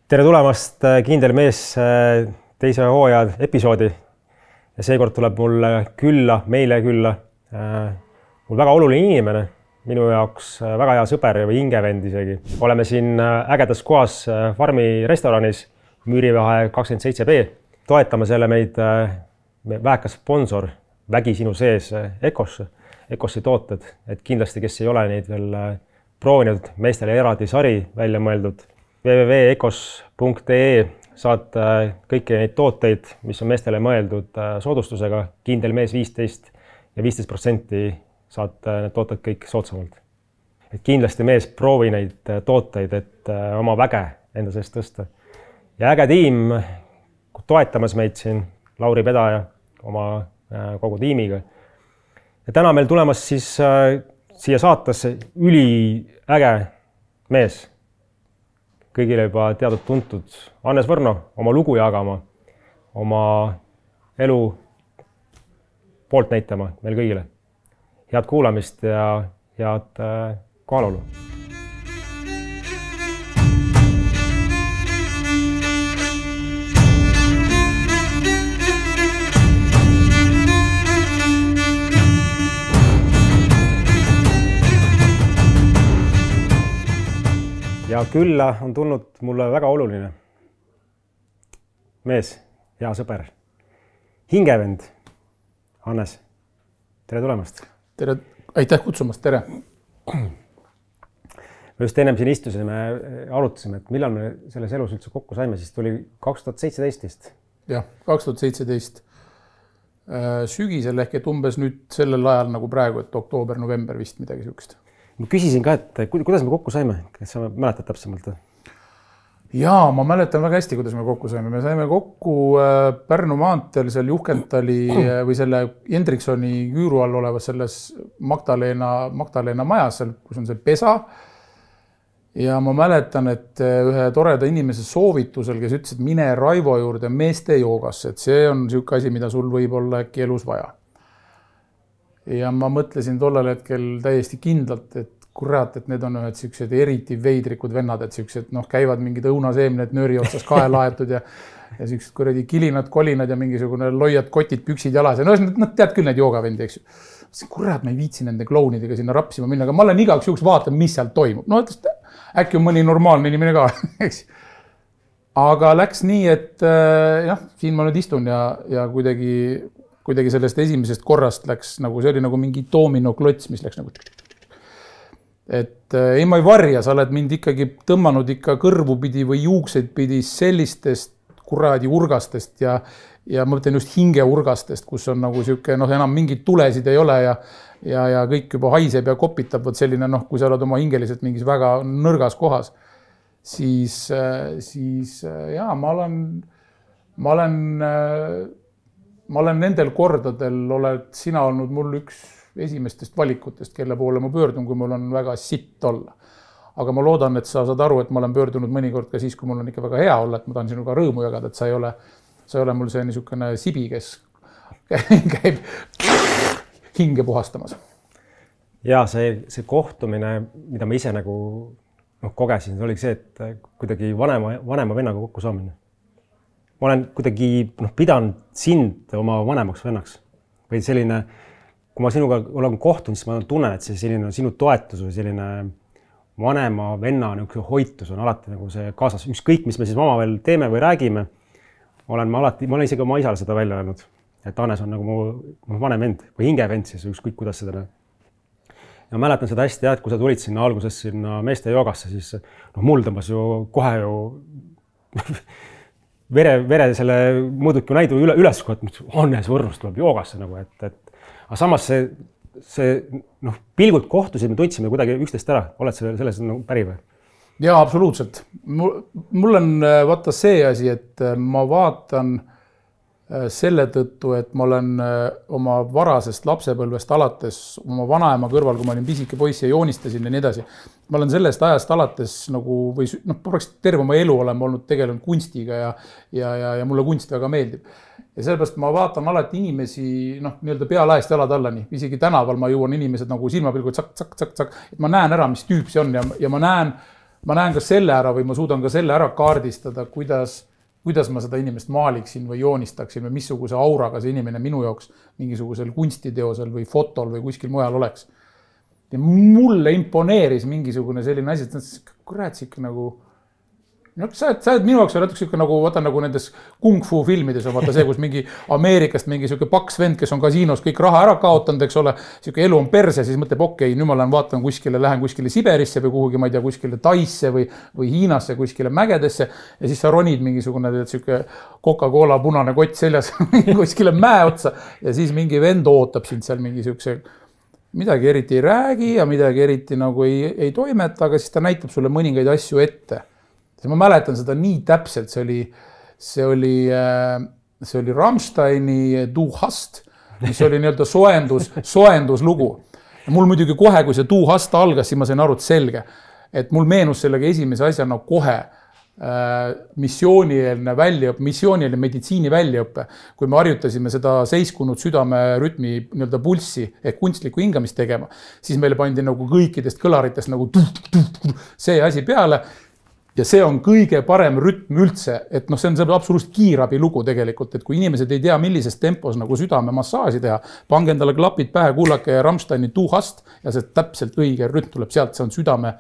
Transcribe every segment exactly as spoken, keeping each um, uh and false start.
Tere tulemast Kindel mees teise hooaja episoodi ja seekord tuleb mul külla, meile külla mul väga oluline inimene, minu jaoks väga hea sõber või hingevend isegi. Oleme siin ägedas kohas Farmi restoranis Müürivahe kakskümmend seitse B. Toetame selle meid väekas sponsor Vägi sinu sees Ecos, Ecosi tooted, et kindlasti, kes ei ole neid veel proovinud, meestele eraldi sari välja mõeldud. w w w punkt ecos punkt e saad kõiki neid tooteid, mis on meestele mõeldud soodustusega, Kindel mees viisteist ja viisteist protsenti saad need tooted kõik soodsamalt. Et kindlasti mees proovi neid tooteid, et oma väge enda seest tõsta. Ja äge tiim toetamas meid siin, Lauri Pedaja oma kogu tiimiga. Ja täna meil tulemas siis siia saatesse üli äge mees. Kõigile juba teadnud tuntud Hannes Võrno oma lugu jagama, oma elu poolt näitama meil kõigile. Head kuulamist ja head kohalolu. Ja külla on tulnud mulle väga oluline mees, hea sõber, hingevend, Hannes. Tere tulemast. Tere, aitäh kutsumast, tere. Me just ennem siin istusime, arutasime, et millal me selles elus üldse kokku saime, siis tuli kaks tuhat seitseteist. Jah, kaks tuhat seitseteist sügisel ehk et umbes nüüd sellel ajal nagu praegu, et oktoober, november vist midagi sihukest. Ma küsisin ka, et kuidas me kokku saime, kas sa mäletad täpsemalt? Jaa, ma mäletan väga hästi, kuidas me kokku saime. Me saime kokku Pärnu maanteel seal Juhkentali või selle Hendriksoni küüru all olevas selles Magdalena, Magdalena majas, kus on see pesa. Ja ma mäletan, et ühe toreda inimese soovitusel, kes ütles, et mine Raivo juurde meeste joogasse, et see on sihuke asi, mida sul võib olla äkki elus vaja. Ja ma mõtlesin tollal hetkel täiesti kindlalt, et kurat, et need on ühed siuksed eriti veidrikud vennad, et siuksed noh, käivad mingid õunaseemned nööri otsas kahe laetud ja, ja siuksed kuradi kilinad, kolinad ja mingisugune loiad kotid, püksid jalas. Ja no, nad tead küll neid joogavendi, eks ju. Kurat, ma ei viitsi nende klounidega sinna rapsima minna, aga ma olen igaks juhuks vaatan, mis seal toimub. No, et äkki on mõni normaalne inimene ka, eks. Aga läks nii, et jah, siin ma nüüd istun ja, ja kuidagi kuidagi sellest esimesest korrast läks nagu, see oli nagu mingi doomino klots, mis läks nagu et ei ma ei varja, sa oled mind ikkagi tõmmanud ikka kõrvu pidi või juukseid pidi sellistest kuradi urgastest ja, ja ma mõtlen just hinge urgastest, kus on nagu siuke, noh, enam mingid tulesid ei ole ja, ja, ja kõik juba haiseb ja kopitab, võt selline, noh, kui sa oled oma hingeliselt mingis väga nõrgas kohas, siis, siis jaa, ma olen, ma olen Ma olen nendel kordadel, oled sina olnud mul üks esimestest valikutest, kelle poole ma pöördun, kui mul on väga sitt olla. Aga ma loodan, et sa saad aru, et ma olen pöördunud mõnikord ka siis, kui mul on ikka väga hea olla, et ma tahan sinuga rõõmu jagada, et sa ei ole, sa ei ole mul see niisugune sibi, kes käib hinge puhastamas. Ja see, see kohtumine, mida ma ise nagu noh, kogesin, see oli see, et kuidagi vanema, vanema vennaga kokku saamine. Ma olen kuidagi noh, pidanud sind oma vanemaks vennaks. Või selline, kui ma sinuga olen kohtunud, siis ma tunnen, et see selline sinu toetus või selline vanema venna niisugune hoitus on alati nagu see kaasas. Ükskõik, mis me siis oma veel teeme või räägime, olen ma alati, ma olen isegi oma isale seda välja öelnud, et Hannes on nagu mu vanem vend või hingevend siis, ükskõik kuidas seda näeb. Ja mäletan seda hästi, et kui sa tulid sinna alguses sinna meeste joogasse, siis noh, mul tõmbas ju kohe ju Vere, vere selle mõõduki näidu üle, üles, et Hannes Võrnust tuleb joogasse nagu, et, et aga samas see, see noh, pilgult kohtusid, me tundsime kuidagi üksteist ära. Oled selles nagu päri või? Jaa, absoluutselt. Mul on vaata see asi, et ma vaatan selle tõttu, et ma olen oma varasest lapsepõlvest alates oma vanaema kõrval, kui ma olin pisike poiss ja joonistasin ja nii edasi. Ma olen sellest ajast alates nagu, või noh, peaks terve oma elu olema olnud tegelenud kunstiga ja, ja, ja, ja mulle kunst väga meeldib. Ja sellepärast ma vaatan alati inimesi, noh, nii-öelda pealaest jalad allani. Isegi tänaval ma jõuan inimesed nagu silmapilgud, tsak, tsak, tsak, tsak, et ma näen ära, mis tüüp see on ja, ja ma näen, ma näen ka selle ära või ma suudan ka selle ära kaardistada, kuidas, kuidas ma seda inimest maaliksin või joonistaksin või missuguse auraga see inimene minu jaoks mingisugusel kunstiteosel või fotol või kuskil mujal oleks. Ja mulle imponeeris mingisugune selline asi, et kurat, see ikka nagu no sa oled, sa oled minu jaoks natuke siuke nagu vaata nagu nendes kung fu filmides on vaata see, kus mingi Ameerikast mingi siuke paks vend, kes on kasiinos kõik raha ära kaotanud, eks ole, siuke elu on perse, siis mõtleb, okei, nüüd ma lähen vaatan kuskile, lähen kuskile Siberisse või kuhugi, ma ei tea, kuskile Taisse või, või Hiinasse, kuskile mägedesse ja siis sa ronid mingisugune siuke Coca-Cola punane kott seljas kuskile mäe otsa ja siis mingi vend ootab sind seal mingi siukse midagi eriti ei räägi ja midagi eriti nagu ei, ei toimeta, aga siis ta näitab sulle mõningaid asju ette. Ma mäletan seda nii täpselt, see oli, see oli, see oli Rammsteini Du Hast, mis oli nii-öelda soendus, soenduslugu. Ja mul muidugi kohe, kui see Du Hast algas, siis ma sain aru, et selge, et mul meenus sellega esimese asjana kohe äh, missioonielne väljaõppe, missioonielne meditsiini väljaõppe, kui me harjutasime seda seiskunud südamerütmi nii-öelda pulssi ehk kunstlikku hingamist tegema, siis meile pandi nagu kõikidest kõlaritest nagu tuh, tuh, tuh, see asi peale. Ja see on kõige parem rütm üldse, et noh, see on see absoluutselt kiirabi lugu tegelikult, et kui inimesed ei tea, millises tempos nagu südame massaaži teha, pange endale klapid pähe, kuulake Rammsteini Du Hast ja see täpselt õige rütm tuleb sealt, see on südame,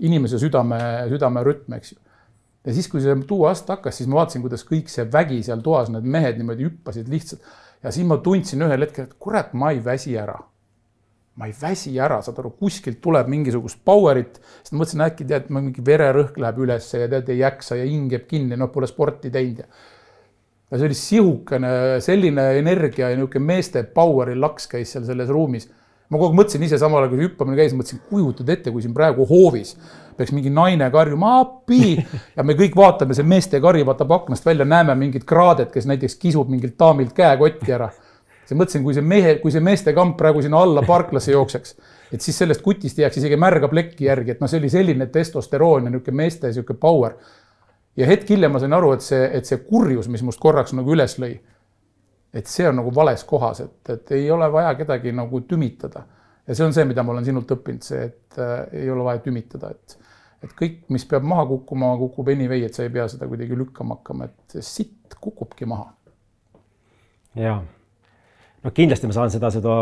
inimese südame, südame rütm, eks ju. Ja siis, kui see Du Hast hakkas, siis ma vaatasin, kuidas kõik see vägi seal toas, need mehed niimoodi hüppasid lihtsalt ja siis ma tundsin ühel hetkel, et kurat, ma ei väsi ära. Ma ei väsi ära, saad aru, kuskilt tuleb mingisugust powerit, sest ma mõtlesin äkki tead, ma mingi vererõhk läheb üles ja tead ei jaksa ja hing jääb kinni, no pole sporti teinud. Ja see oli sihukene selline energia ja niuke meeste poweri laks käis seal selles ruumis. Ma kogu mõtlesin ise samal ajal, kui hüppamine käis, mõtlesin, kujutad ette, kui siin praegu hoovis peaks mingi naine karjuma appi ja me kõik vaatame, see meeste kari vaatab aknast välja, näeme mingid kraadet, kes näiteks kisub mingilt daamilt käekotti ära. See mõtlesin, kui see, mehe, kui see meeste kamp praegu sinna alla parklasse jookseks, et siis sellest kutist jääks isegi märga plekki järgi, et no see oli selline testosteroon ja niuke meeste siuke power. Ja hetk hiljem ma sain aru, et see, et see kurjus, mis must korraks nagu üles lõi, et see on nagu vales kohas, et, et ei ole vaja kedagi nagu tümitada. Ja see on see, mida ma olen sinult õppinud, see, et äh, ei ole vaja tümitada, et, et kõik, mis peab maha kukkuma, kukub anyway, et sa ei pea seda kuidagi lükkama hakkama, et sitt kukubki maha. Jaa. No kindlasti ma saan seda, seda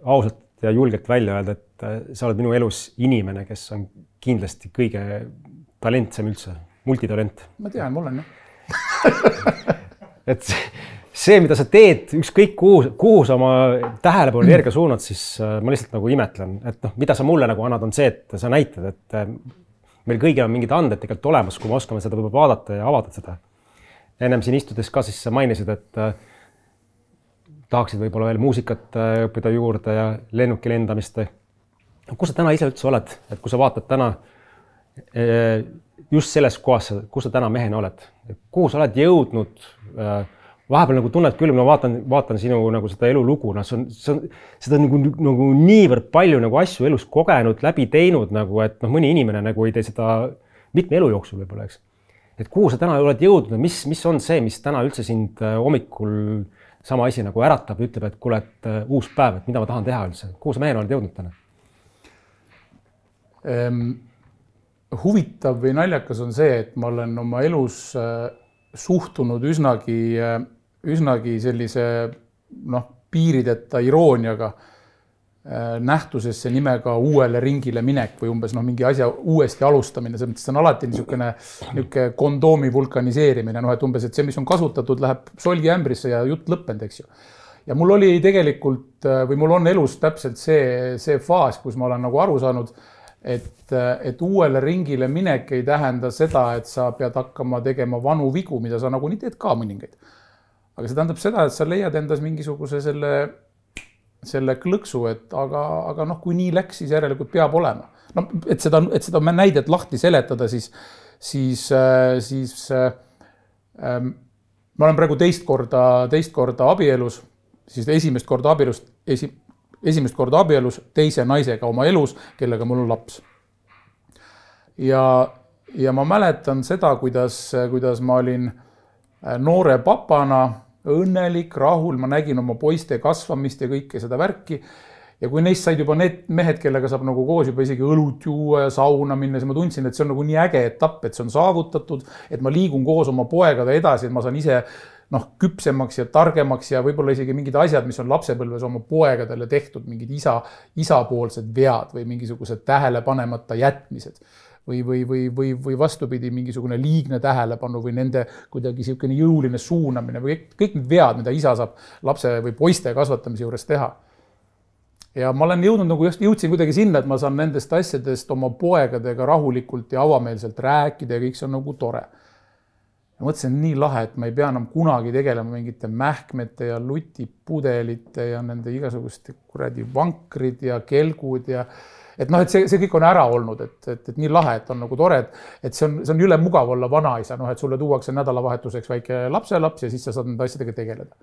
ausalt ja julgelt välja öelda, et sa oled minu elus inimene, kes on kindlasti kõige talentsem üldse, multitalent. Ma tean, mul on jah. Et see, mida sa teed, ükskõik kuhu, kuhu sa oma tähelepanu energia suunad, siis ma lihtsalt nagu imetlen, et noh, mida sa mulle nagu annad, on see, et sa näitad, et meil kõigil on mingid anded tegelikult olemas, kui me oskame seda võib-olla vaadata ja avada seda. Ennem siin istudes ka siis sa mainisid, et tahaksid võib-olla veel muusikat õppida juurde ja lennuki lendamist. Kus sa täna ise üldse oled? Et kui sa vaatad täna just selles kohas, kus sa täna mehena oled? Kuhu sa oled jõudnud? Vahepeal nagu tunned küll, ma vaatan, vaatan sinu nagu seda elulugu, no, see on, see on, seda on nagu, nagu niivõrd palju nagu asju elus kogenud, läbi teinud, nagu, et noh, mõni inimene nagu ei tee seda mitme elu jooksul võib-olla, eks. Et kuhu sa täna oled jõudnud? Mis, mis on see, mis täna üldse sind hommikul sama asi nagu äratab, ütleb, et kuule, et uus päev, et mida ma tahan teha üldse. Kuhu sa mehena oled jõudnud täna? Ehm, huvitav või naljakas on see, et ma olen oma elus äh, suhtunud üsnagi, äh, üsnagi sellise noh, piirideta irooniaga äh, nähtusesse nimega uuele ringile minek või umbes noh, mingi asja uuesti alustamine. See on alati niisugune, niisugune kondoomi vulkaniseerimine, noh, et umbes, et see, mis on kasutatud, läheb solgi ämbrisse ja jutt lõppend, eks ju. Ja mul oli tegelikult, või mul on elus täpselt see, see faas, kus ma olen nagu aru saanud, et, et uuele ringile minek ei tähenda seda, et sa pead hakkama tegema vanu vigu, mida sa nagu nii teed ka mõningaid. Aga see tähendab seda, et sa leiad endas mingisuguse selle selle klõksu, et aga, aga noh, kui nii läks, siis järelikult peab olema. No, et seda, et seda näidet lahti seletada, siis, siis, siis ähm, ma olen praegu teist korda, teist korda abielus, siis esimest korda abielus, esi, esimest korda abielus teise naisega oma elus, kellega mul on laps. Ja, ja ma mäletan seda, kuidas, kuidas ma olin noore papana, õnnelik, rahul, ma nägin oma poiste kasvamist ja kõike seda värki ja kui neist said juba need mehed, kellega saab nagu koos juba isegi õlut juua ja sauna minna, siis ma tundsin, et see on nagu nii äge etapp, et see on saavutatud, et ma liigun koos oma poegade edasi, et ma saan ise noh, küpsemaks ja targemaks ja võib-olla isegi mingid asjad, mis on lapsepõlves oma poegadele tehtud, mingid isa, isapoolsed vead või mingisugused tähele panemata jätmised või, või, või, või, või vastupidi, mingisugune liigne tähelepanu või nende kuidagi niisugune jõuline suunamine või kõik, kõik need vead, mida isa saab lapse või poiste kasvatamise juures teha. Ja ma olen jõudnud nagu just jõudsin kuidagi sinna, et ma saan nendest asjadest oma poegadega rahulikult ja avameelselt rääkida ja kõik see on nagu tore. Ja mõtlesin, nii lahe, et ma ei pea enam kunagi tegelema mingite mähkmete ja lutipudelite ja nende igasuguste kuradi vankrid ja kelgud ja et noh, et see, see kõik on ära olnud, et, et, et nii lahe, et on nagu tore, et, et see on, see on üle mugav olla vanaisa, noh, et sulle tuuakse nädalavahetuseks väike lapselaps ja siis sa saad nende asjadega tegeleda.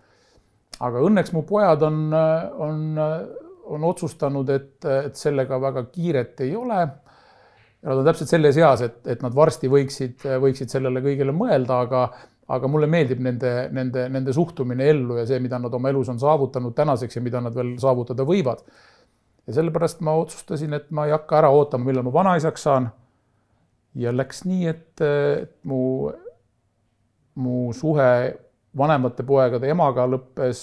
Aga õnneks mu pojad on, on, on otsustanud, et, et sellega väga kiiret ei ole. Ja nad on täpselt selles eas, et, et nad varsti võiksid, võiksid sellele kõigele mõelda, aga, aga mulle meeldib nende, nende, nende suhtumine ellu ja see, mida nad oma elus on saavutanud tänaseks ja mida nad veel saavutada võivad. Ja sellepärast ma otsustasin, et ma ei hakka ära ootama, millal ma vanaisaks saan. Ja läks nii, et, et mu, mu suhe vanemate poegade emaga lõppes,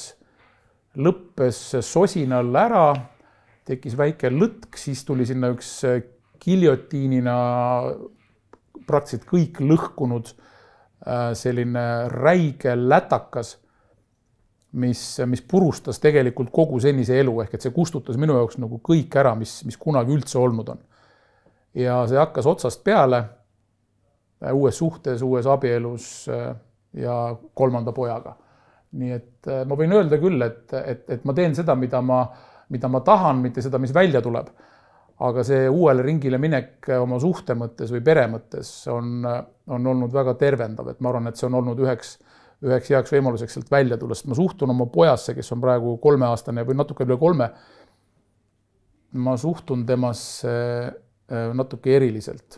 lõppes sosinal ära, tekkis väike lõtk, siis tuli sinna üks giljotiinina praktiliselt kõik lõhkunud selline räige lätakas, mis, mis purustas tegelikult kogu senise elu, ehk et see kustutas minu jaoks nagu kõik ära, mis, mis kunagi üldse olnud on. Ja see hakkas otsast peale uues suhtes, uues abielus ja kolmanda pojaga. Nii et ma võin öelda küll, et, et, et ma teen seda, mida ma, mida ma tahan, mitte seda, mis välja tuleb. Aga see uuele ringile minek oma suhte mõttes või pere mõttes on, on olnud väga tervendav, et ma arvan, et see on olnud üheks, üheks heaks võimaluseks sealt välja tulla, sest ma suhtun oma pojasse, kes on praegu kolmeaastane või natuke üle kolme. Ma suhtun temasse natuke eriliselt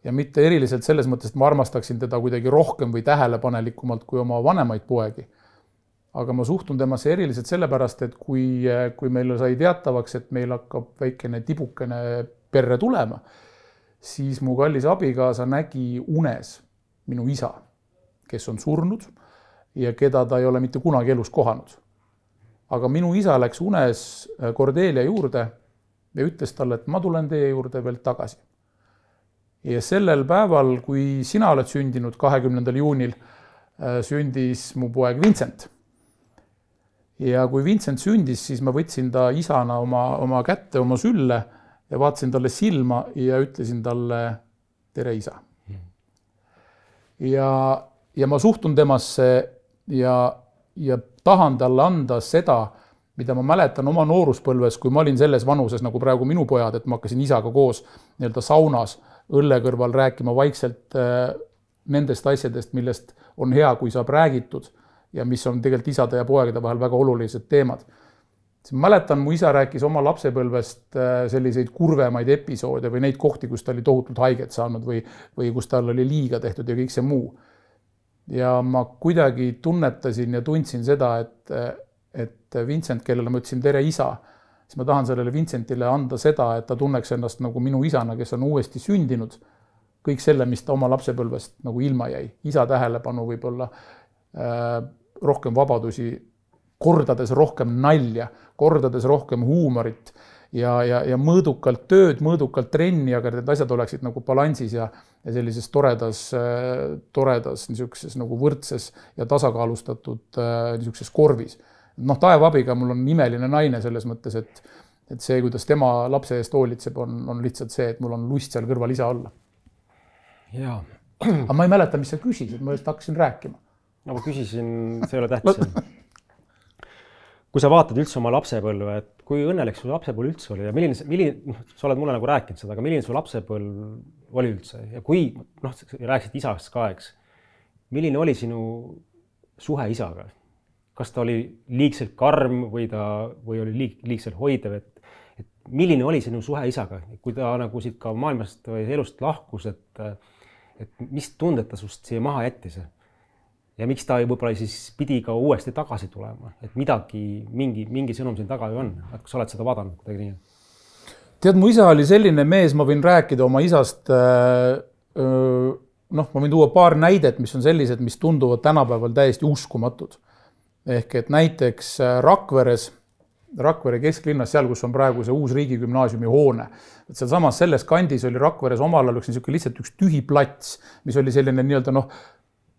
ja mitte eriliselt selles mõttes, et ma armastaksin teda kuidagi rohkem või tähelepanelikumalt kui oma vanemaid poegi. Aga ma suhtun temasse eriliselt sellepärast, et kui, kui meil sai teatavaks, et meil hakkab väikene tibukene perre tulema, siis mu kallis abikaasa nägi unes minu isa, kes on surnud ja keda ta ei ole mitte kunagi elus kohanud. Aga minu isa läks unes Cordelia juurde ja ütles talle, et ma tulen teie juurde veel tagasi. Ja sellel päeval, kui sina oled sündinud kahekümnendal juunil, sündis mu poeg Vincent. Ja kui Vincent sündis, siis ma võtsin ta isana oma, oma kätte, oma sülle ja vaatasin talle silma ja ütlesin talle tere isa. Ja, ja ma suhtun temasse ja, ja tahan talle anda seda, mida ma mäletan oma nooruspõlves, kui ma olin selles vanuses nagu praegu minu pojad, et ma hakkasin isaga koos nii-öelda saunas õlle kõrval rääkima vaikselt nendest asjadest, millest on hea, kui saab räägitud ja mis on tegelikult isade ja poegade vahel väga olulised teemad. Mäletan, mu isa rääkis oma lapsepõlvest selliseid kurvemaid episoode või neid kohti, kus ta oli tohutult haiget saanud või, või kus tal oli liiga tehtud ja kõik see muu. Ja ma kuidagi tunnetasin ja tundsin seda, et, et Vincent, kellele ma ütlesin tere isa, siis ma tahan sellele Vincentile anda seda, et ta tunneks ennast nagu minu isana, kes on uuesti sündinud, kõik selle, mis ta oma lapsepõlvest nagu ilma jäi. Isa tähelepanu võib-olla äh, rohkem vabadusi, kordades rohkem nalja, kordades rohkem huumorit ja, ja, ja mõõdukalt tööd, mõõdukalt trenni, aga need asjad oleksid nagu balansis ja, ja sellises toredas, toredas niisuguses nagu võrdses ja tasakaalustatud niisuguses korvis. Noh, taevabiga mul on imeline naine selles mõttes, et, et see, kuidas tema lapse eest hoolitseb, on, on lihtsalt see, et mul on lust seal kõrval isa olla. Jaa. Aga ma ei mäleta, mis sa küsisid, ma just hakkasin rääkima. No, ma küsisin, see ei ole tähtsam. Kui sa vaatad üldse oma lapsepõlve, et kui õnnelik su lapsepõlv üldse oli ja milline, milline, sa oled mulle nagu rääkinud seda, aga milline su lapsepõlv oli üldse ja kui, noh, rääkisid isast ka, eks, milline oli sinu suhe isaga? Kas ta oli liigselt karm või, ta, või oli liig, liigselt hoidev, et, et milline oli sinu suhe isaga, kui ta nagu siit ka maailmast või elust lahkus, et, et mis tundet ta sust siia maha jättis? ja miks ta võib-olla siis pidi ka uuesti tagasi tulema, et midagi, mingi, mingi sõnum siin taga ju on, et kas oled seda vaadanud kuidagi nii? Tead, mu isa oli selline mees, ma võin rääkida oma isast, noh, ma võin tuua paar näidet, mis on sellised, mis tunduvad tänapäeval täiesti uskumatud. Ehk et näiteks Rakveres, Rakvere kesklinnas, seal, kus on praegu see uus riigigümnaasiumi hoone. Et seal samas selles kandis oli Rakveres omal ajal üks lihtsalt üks tühi plats, mis oli selline nii-öelda noh,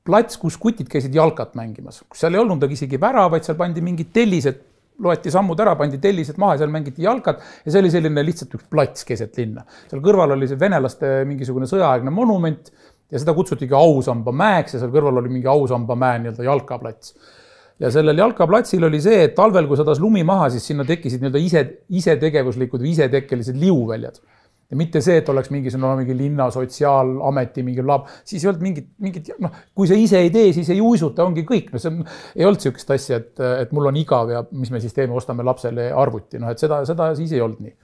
plats, kus kutid käisid jalkat mängimas. Kus seal ei olnud isegi vära, vaid seal pandi mingid tellised, loeti sammud ära, pandi tellised maha ja seal mängiti jalkat ja see oli selline lihtsalt üks plats keset linna. Seal kõrval oli see venelaste mingisugune sõjaaegne monument ja seda kutsutigi Ausamba mäeks ja seal kõrval oli mingi Ausamba mäe nii-öelda jalkaplats. Ja sellel jalkaplatsil oli see, et talvel, kui sadas lumi maha, siis sinna tekkisid nii-öelda ise, ise tegevuslikud või isetekkelised liuväljad. Ja mitte see, et oleks mingi, no, mingi linna sotsiaalameti mingi lab, siis ei olnud mingit, mingit, noh, kui see ise ei tee, siis ei uisuta, ongi kõik. No see ei olnud sihukest asja, et, et mul on igav ja mis me siis teeme, ostame lapsele arvuti. No, et seda, seda siis ei olnud nii.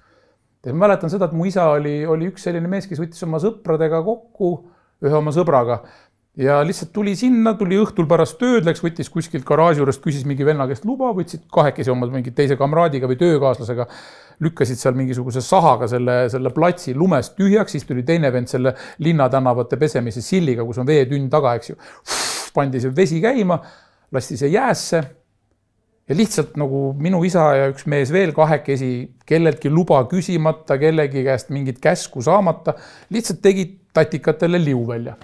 Ja ma mäletan seda, et mu isa oli, oli üks selline mees, kes võttis oma sõpradega kokku, ühe oma sõbraga ja lihtsalt tuli sinna, tuli õhtul pärast tööd, läks, võttis kuskilt garaaži juurest, küsis mingi venna käest luba, võtsid kahekesi oma mingi teise kamraadiga või töökaaslasega, lükkasid seal mingisuguse sahaga selle, selle platsi lumest tühjaks, siis tuli teine vend selle linnatänavate pesemise silliga, kus on veetünn taga, eks ju. Pandi see vesi käima, lasti see jäässe ja lihtsalt nagu minu isa ja üks mees veel kahekesi, kelleltki luba küsimata, kellegi käest mingit käsku saamata, lihtsalt tegid tatikatele liu välja.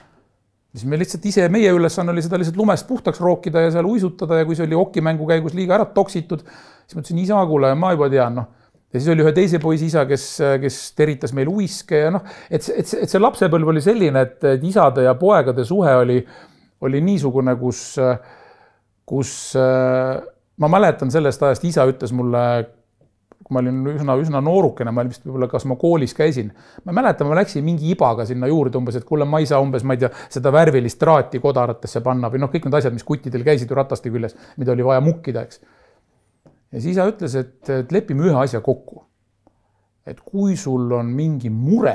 Siis me lihtsalt ise, meie ülesanne oli seda lihtsalt lumest puhtaks rookida ja seal uisutada ja kui see oli okimängu käigus liiga ära toksitud, siis mõtlesin, isa, kuule, ma juba tean, noh. Ja siis oli ühe teise poisi isa, kes, kes teritas meil uiske ja noh, et, et, et see lapsepõlv oli selline, et, et isade ja poegade suhe oli, oli niisugune, kus, kus ma mäletan sellest ajast, isa ütles mulle, kui ma olin üsna, üsna noorukene, ma olin vist võib-olla, kas ma koolis käisin. Ma mäletan, ma läksin mingi ibaga sinna juurde umbes, et kuule, ma ei saa umbes, ma ei tea, seda värvilist traati kodaratesse panna või noh, kõik need asjad, mis kuttidel käisid ju rataste küljes, mida oli vaja mukkida, eks. Ja siis isa ütles, et, et lepime ühe asja kokku. Et kui sul on mingi mure,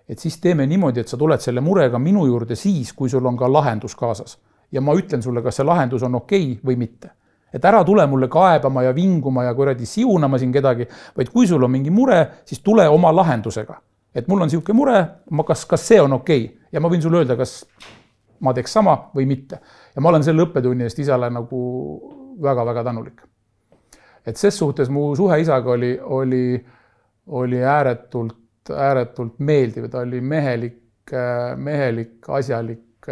et siis teeme niimoodi, et sa tuled selle murega minu juurde siis, kui sul on ka lahendus kaasas. Ja ma ütlen sulle, kas see lahendus on okei või mitte. Et ära tule mulle kaebama ja vinguma ja kuradi siunama siin kedagi, vaid kui sul on mingi mure, siis tule oma lahendusega. Et mul on siuke mure, ma kas, kas see on okei? Ja ma võin sulle öelda, kas ma teeks sama või mitte. Ja ma olen selle õppetunni eest isale nagu väga-väga tänulik. Et ses suhtes mu suhe isaga oli, oli, oli ääretult, ääretult meeldiv. Ta oli mehelik, mehelik, asjalik,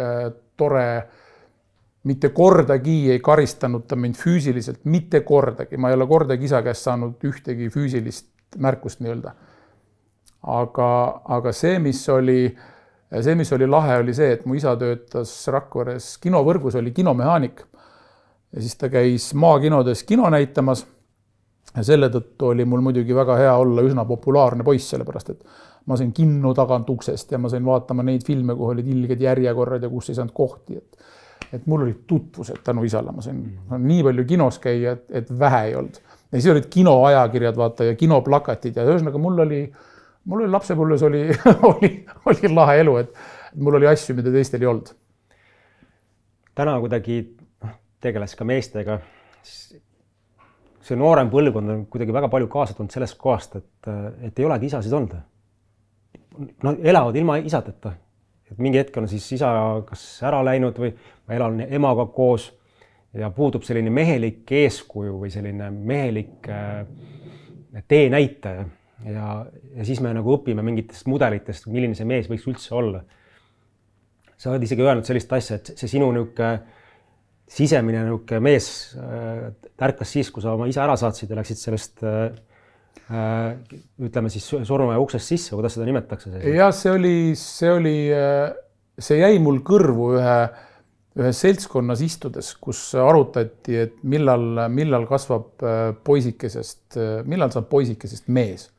tore. Mitte kordagi ei karistanud ta mind füüsiliselt, mitte kordagi. Ma ei ole kordagi isa käest saanud ühtegi füüsilist märkust nii-öelda. Aga, aga see, mis oli, see, mis oli lahe, oli see, et mu isa töötas Rakveres kinovõrgus, oli kinomehaanik. Ja siis ta käis maakinodes kino näitamas. Ja selle tõttu oli mul muidugi väga hea olla üsna populaarne poiss, sellepärast, et ma sain kinno tagant uksest ja ma sain vaatama neid filme, kuhu olid ilged järjekorrad ja kus ei saanud kohti. Et, et mul olid tutvused tänu isale. Ma sain mm. nii palju kinos käia, et, et vähe ei olnud. Ja siis olid kinoajakirjad vaata ja kinoplakatid ja ühesõnaga mul oli, mul oli lapsepõlves oli, oli, oli lahe elu, et, et mul oli asju, mida teistel ei olnud. Täna kuidagi tegeles ka meestega. See noorem põlvkond on kuidagi väga palju kaasatunud sellest kohast, et, et ei olegi isasid olnud. No, elavad ilma isadeta. Et mingi hetk on siis isa kas ära läinud või ma elan emaga koos ja puudub selline mehelik eeskuju või selline mehelik teenäitaja. Ja, ja siis me nagu õpime mingitest mudelitest, milline see mees võiks üldse olla. Sa oled isegi öelnud sellist asja, et see sinu niuke sisemine niuke mees tärkas siis, kui sa oma isa ära saatsid ja läksid sellest ütleme siis surnuaia uksest sisse, kuidas seda nimetatakse? Ja see oli, see oli, see jäi mul kõrvu ühe, ühe seltskonnas istudes, kus arutati, et millal, millal kasvab poisikesest, millal saab poisikesest mees.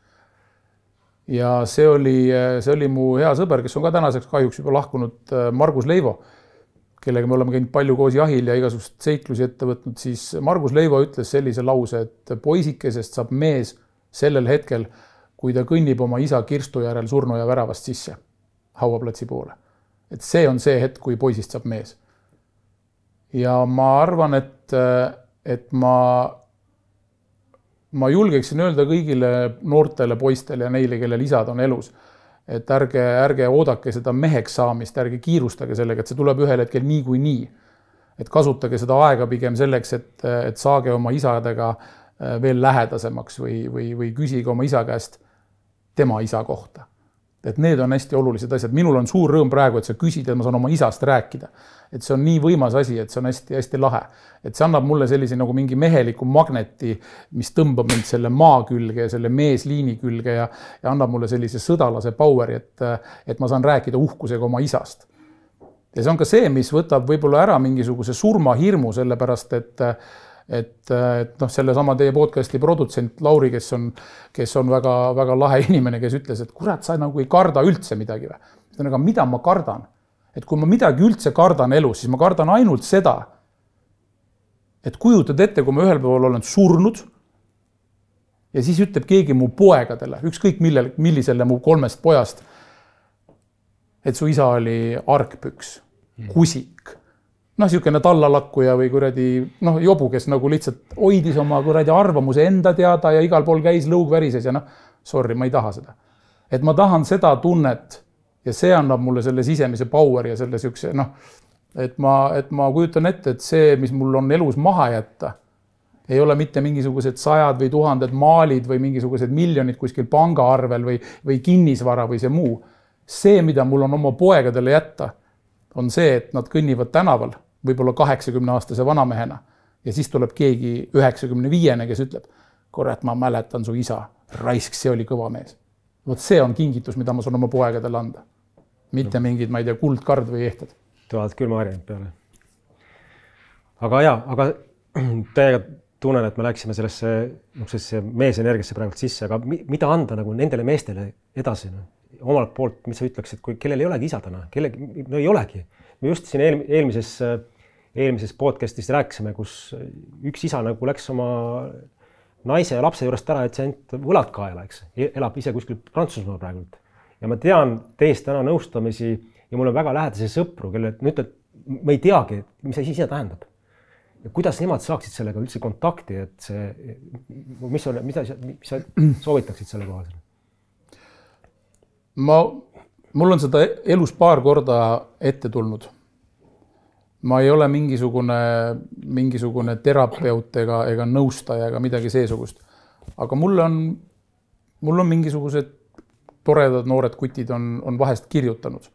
Ja see oli, see oli mu hea sõber, kes on ka tänaseks kahjuks juba lahkunud Margus Leivo, kellega me oleme käinud palju koos jahil ja igasugust seiklusi ette võtnud, siis Margus Leivo ütles sellise lause, et poisikesest saab mees sellel hetkel, kui ta kõnnib oma isa Kirstu järel surnuaia väravast sisse hauaplatsi poole. Et see on see hetk, kui poisist saab mees. ja ma arvan, et, et ma, ma julgeksin öelda kõigile noortele poistele ja neile, kellel isad on elus, et ärge, ärge oodake seda meheks saamist, ärge kiirustage sellega, et see tuleb ühel hetkel nii kui nii. Et kasutage seda aega pigem selleks, et, et saage oma isadega veel lähedasemaks või, või, või küsige oma isa käest tema isa kohta. Et need on hästi olulised asjad. Minul on suur rõõm praegu, et sa küsid, et ma saan oma isast rääkida. Et see on nii võimas asi, et see on hästi, hästi lahe. Et see annab mulle sellise nagu mingi meheliku magneti, mis tõmbab mind selle maa külge ja selle meesliini külge ja, ja annab mulle sellise sõdalase poweri, et, et ma saan rääkida uhkusega oma isast. Ja see on ka see, mis võtab võib-olla ära mingisuguse surmahirmu, sellepärast, et et, et noh, selle sama teie podcasti produtsent Lauri, kes on, kes on väga, väga lahe inimene, kes ütles, et kurat, sa nagu ei karda üldse midagi või. Aga mida ma kardan? Et kui ma midagi üldse kardan elus, siis ma kardan ainult seda, et kujutad ette, kui ma ühel pool olen surnud ja siis ütleb keegi mu poegadele, ükskõik millel, millisele mu kolmest pojast, et su isa oli argpüks, kusik, noh, niisugune tallalakkuja või kuradi, noh, jobu, kes nagu lihtsalt hoidis oma kuradi arvamuse enda teada ja igal pool käis lõug värises ja noh, sorry, ma ei taha seda. Et ma tahan seda tunnet ja see annab mulle selle sisemise power ja selle siukse, noh, et ma, et ma kujutan ette, et see, mis mul on elus maha jätta, ei ole mitte mingisugused sajad või tuhanded maalid või mingisugused miljonid kuskil pangaarvel või, või kinnisvara või see muu. See, mida mul on oma poegadele jätta, on see, et nad kõnnivad tänaval, võib-olla kaheksakümne aastase vanamehena ja siis tuleb keegi üheksakümne viiene, kes ütleb, kurat, ma mäletan su isa, raisk, see oli kõva mees. Vot see on kingitus, mida ma saan oma poegadele anda. Mitte mingid, ma ei tea, kuldkard või ehtad. Tulevad küll marjanud peale. Aga jaa, aga täiega tunnen, et me läksime sellesse, sellesse meesenergiasse praegu sisse, aga mida anda nagu nendele meestele edasi? No? Omalt poolt, mis sa ütleksid, kui kellel ei olegi isa täna, kellegi, no ei olegi. Me just siin eel, eelmises, eelmises podcastis rääkisime, kus üks isa nagu läks oma naise ja lapse juurest ära, et see ainult võlad kaela, eks. Elab ise kuskil Prantsusmaa praegult. Ja ma tean teist täna nõustamisi ja mul on väga lähedase sõpru, kelle ütled, ma ei teagi, mis see ise tähendab. Ja kuidas nemad saaksid sellega üldse kontakti, et see, mis, on, mis, mis sa soovitaksid selle kohal? Ma, mul on seda elus paar korda ette tulnud. Ma ei ole mingisugune, mingisugune terapeut ega, ega nõustaja ega midagi seesugust. Aga mul on, mul on mingisugused toredad noored kutid on, on vahest kirjutanud,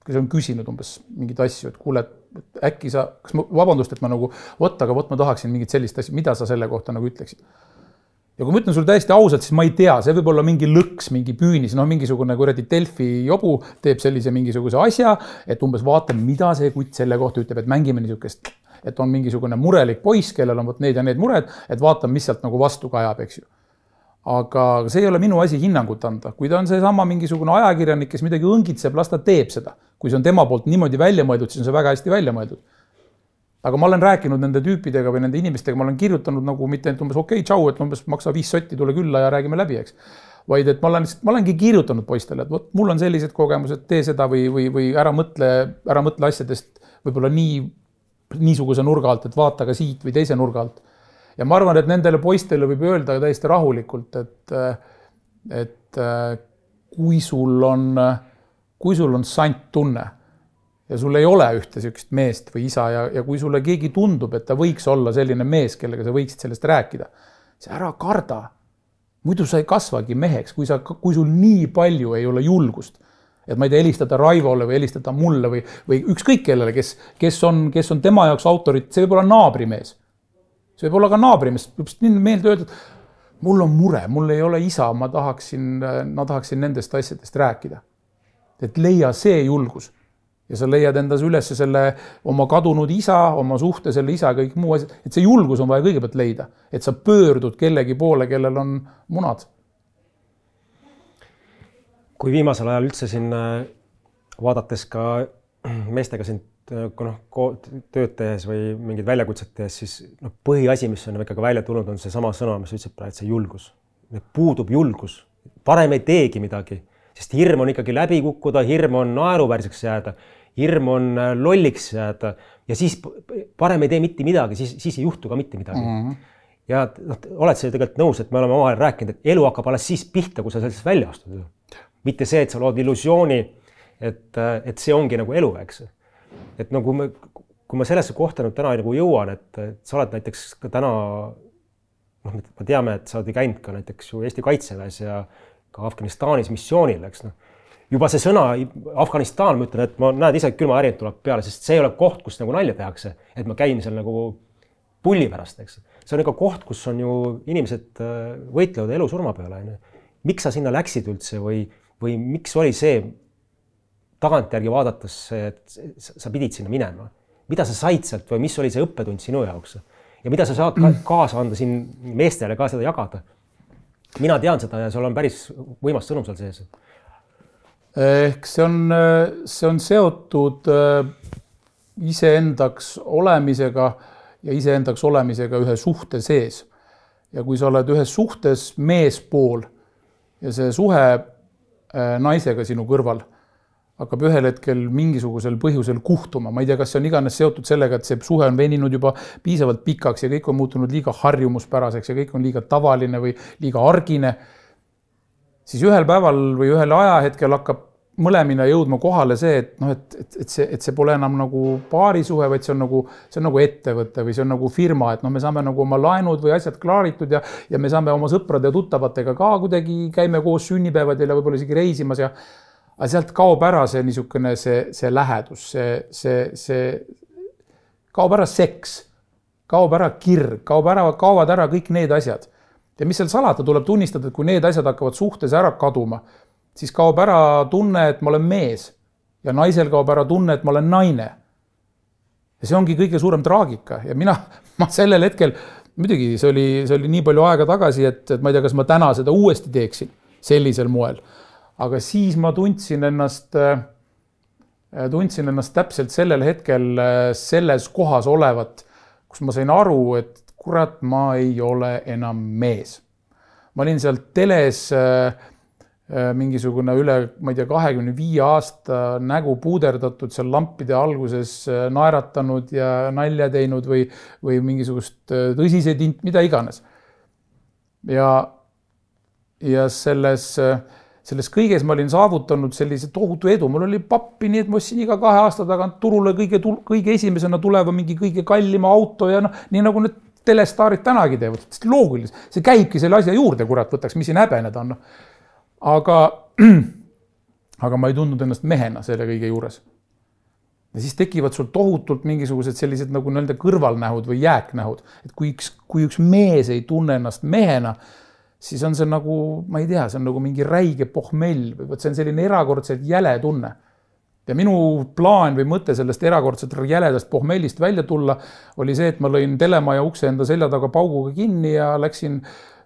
kes on küsinud umbes mingid asju, et kuule, et äkki sa, kas ma, vabandust, et ma nagu, võt, aga võt, ma tahaksin mingit sellist asja, mida sa selle kohta nagu ütleksid? Ja kui ma ütlen sulle täiesti ausalt, siis ma ei tea, see võib olla mingi lõks, mingi püünis, no mingisugune kuradi Delfi jobu teeb sellise mingisuguse asja, et umbes vaatame, mida see kutt selle kohta ütleb, et mängime niisugust, et on mingisugune murelik poiss, kellel on võt need ja need mured, et vaatame, mis sealt nagu vastu kajab, eks ju. Aga see ei ole minu asi hinnangut anda. Kui ta on see sama mingisugune ajakirjanik, kes midagi õngitseb, las ta teeb seda. Kui see on tema poolt niimoodi välja mõeldud, siis on see väga hästi välja mõeldud. Aga ma olen rääkinud nende tüüpidega või nende inimestega, ma olen kirjutanud nagu mitte et umbes okei, okay, tšau, et umbes maksa viis sotti, tule külla ja räägime läbi, eks. Vaid et ma olen, ma olengi kirjutanud poistele, et võt, mul on sellised kogemused, tee seda või, või, või ära mõtle, ära mõtle asjadest võib-olla nii, niisuguse nurga alt, et vaata ka siit või teise nurga alt. Ja ma arvan, et nendele poistele võib öelda täiesti rahulikult, et, et kui sul on, kui sul on sant tunne, ja sul ei ole ühte sellist meest või isa ja, ja kui sulle keegi tundub, et ta võiks olla selline mees, kellega sa võiksid sellest rääkida, see ära karda. Muidu sa ei kasvagi meheks, kui, sa, kui sul nii palju ei ole julgust. Et ma ei tea, helistada Raivole või helistada mulle või, või ükskõik kellele, kes, kes, on, kes on tema jaoks autorit, see võib olla naabrimees. See võib olla ka naabrimees, võib meelde öelda, et mul on mure, mul ei ole isa, ma tahaksin, ma tahaksin nendest asjadest rääkida. Et leia see julgus. Ja sa leiad endas üles selle oma kadunud isa, oma suhte selle isa, kõik muu asjad. Et see julgus on vaja kõigepealt leida. Et sa pöördud kellegi poole, kellel on munad. Kui viimasel ajal üldse siin vaadates ka meestega siin no, tööd tehes või mingid väljakutset tehes, siis no, põhiasi, mis on ikkagi välja tulnud, on see sama sõna, mis ütleb praegu, et see julgus. Puudub julgus. Parem ei teegi midagi. Sest hirm on ikkagi läbi kukkuda, hirm on naeruvärseks jääda, hirm on lolliks jääda ja siis parem ei tee mitte midagi, siis, siis ei juhtu ka mitte midagi. Mm-hmm. Ja noh, oled sa tegelikult nõus, et me oleme omavahel rääkinud, et elu hakkab alles siis pihta, kui sa sellest välja astud. Mitte see, et sa lood illusiooni, et, et see ongi nagu elu, eks. Et no kui, me, kui ma sellesse kohta nüüd täna nagu jõuan, et, et sa oled näiteks ka täna, noh, me teame, et sa oled käinud ka näiteks ju Eesti Kaitseväes ja ka Afganistanis missioonil, eks noh. Juba see sõna Afganistan, ma ütlen, et ma näed ise, et külma ärid tuleb peale, sest see ei ole koht, kus nagu nalja tehakse, et ma käin seal nagu pulli pärast, eks. See on ikka koht, kus on ju inimesed võitlevad elu surma peale. Miks sa sinna läksid üldse või, või miks oli see tagantjärgi vaadates, et sa pidid sinna minema? Mida sa said sealt või mis oli see õppetund sinu jaoks? Ja mida sa saad kaasa anda siin meestele ka seda jagada? Mina tean seda ja sul on päris võimas sõnum seal sees. Ehk see on, see on seotud iseendaks olemisega ja iseendaks olemisega ühe suhte sees. Ja kui sa oled ühes suhtes meespool ja see suhe naisega sinu kõrval hakkab ühel hetkel mingisugusel põhjusel kuhtuma. Ma ei tea, kas see on iganes seotud sellega, et see suhe on veninud juba piisavalt pikaks ja kõik on muutunud liiga harjumuspäraseks ja kõik on liiga tavaline või liiga argine. Siis ühel päeval või ühel ajahetkel hakkab mõlemina jõudma kohale see, et, no, et, et, et, see, et see pole enam nagu paarisuhe, vaid see on nagu, see on nagu ettevõte või see on nagu firma, et no, me saame nagu oma laenud või asjad klaaritud ja, ja me saame oma sõprade ja tuttavatega ka kuidagi käime koos sünnipäevadel ja võib-olla isegi reisimas ja aga sealt kaob ära see niisugune see, see lähedus, see, see, see kaob ära seks, kaob ära kirg, kaob ära, kaovad ära kõik need asjad. Ja mis seal salata, tuleb tunnistada, et kui need asjad hakkavad suhtes ära kaduma, siis kaob ära tunne, et ma olen mees ja naisel kaob ära tunne, et ma olen naine. Ja see ongi kõige suurem traagika ja mina, ma sellel hetkel, muidugi see oli, see oli nii palju aega tagasi, et, et ma ei tea, kas ma täna seda uuesti teeksin sellisel moel. Aga siis ma tundsin ennast, tundsin ennast täpselt sellel hetkel selles kohas olevat, kus ma sain aru, et kurat, ma ei ole enam mees. Ma olin seal teles mingisugune üle, ma ei tea, kahekümne viie aasta nägu puuderdatud seal lampide alguses naeratanud ja nalja teinud või, või mingisugust tõsiseid int, mida iganes. Ja, ja selles, selles kõiges ma olin saavutanud sellise tohutu edu. Mul oli pappi nii, et ma ostsin iga kahe aasta tagant turule kõige, kõige esimesena tuleva mingi kõige kallima auto ja no, nii nagu need telestaarid tänagi teevad. Loogilis. See käibki selle asja juurde, kurat, võtaks, mis siin häbeneda on. Aga, aga ma ei tundnud ennast mehena selle kõige juures. Ja siis tekivad sul tohutult mingisugused sellised nagu nii-öelda kõrvalnähud või jääknähud. Et kui üks, kui üks mees ei tunne ennast mehena, siis on see nagu, ma ei tea, see on nagu mingi räige pohmell või see on selline erakordselt jäle tunne. Ja minu plaan või mõte sellest erakordselt jäledast pohmellist välja tulla oli see, et ma lõin telemaja ukse enda selja taga pauguga kinni ja läksin,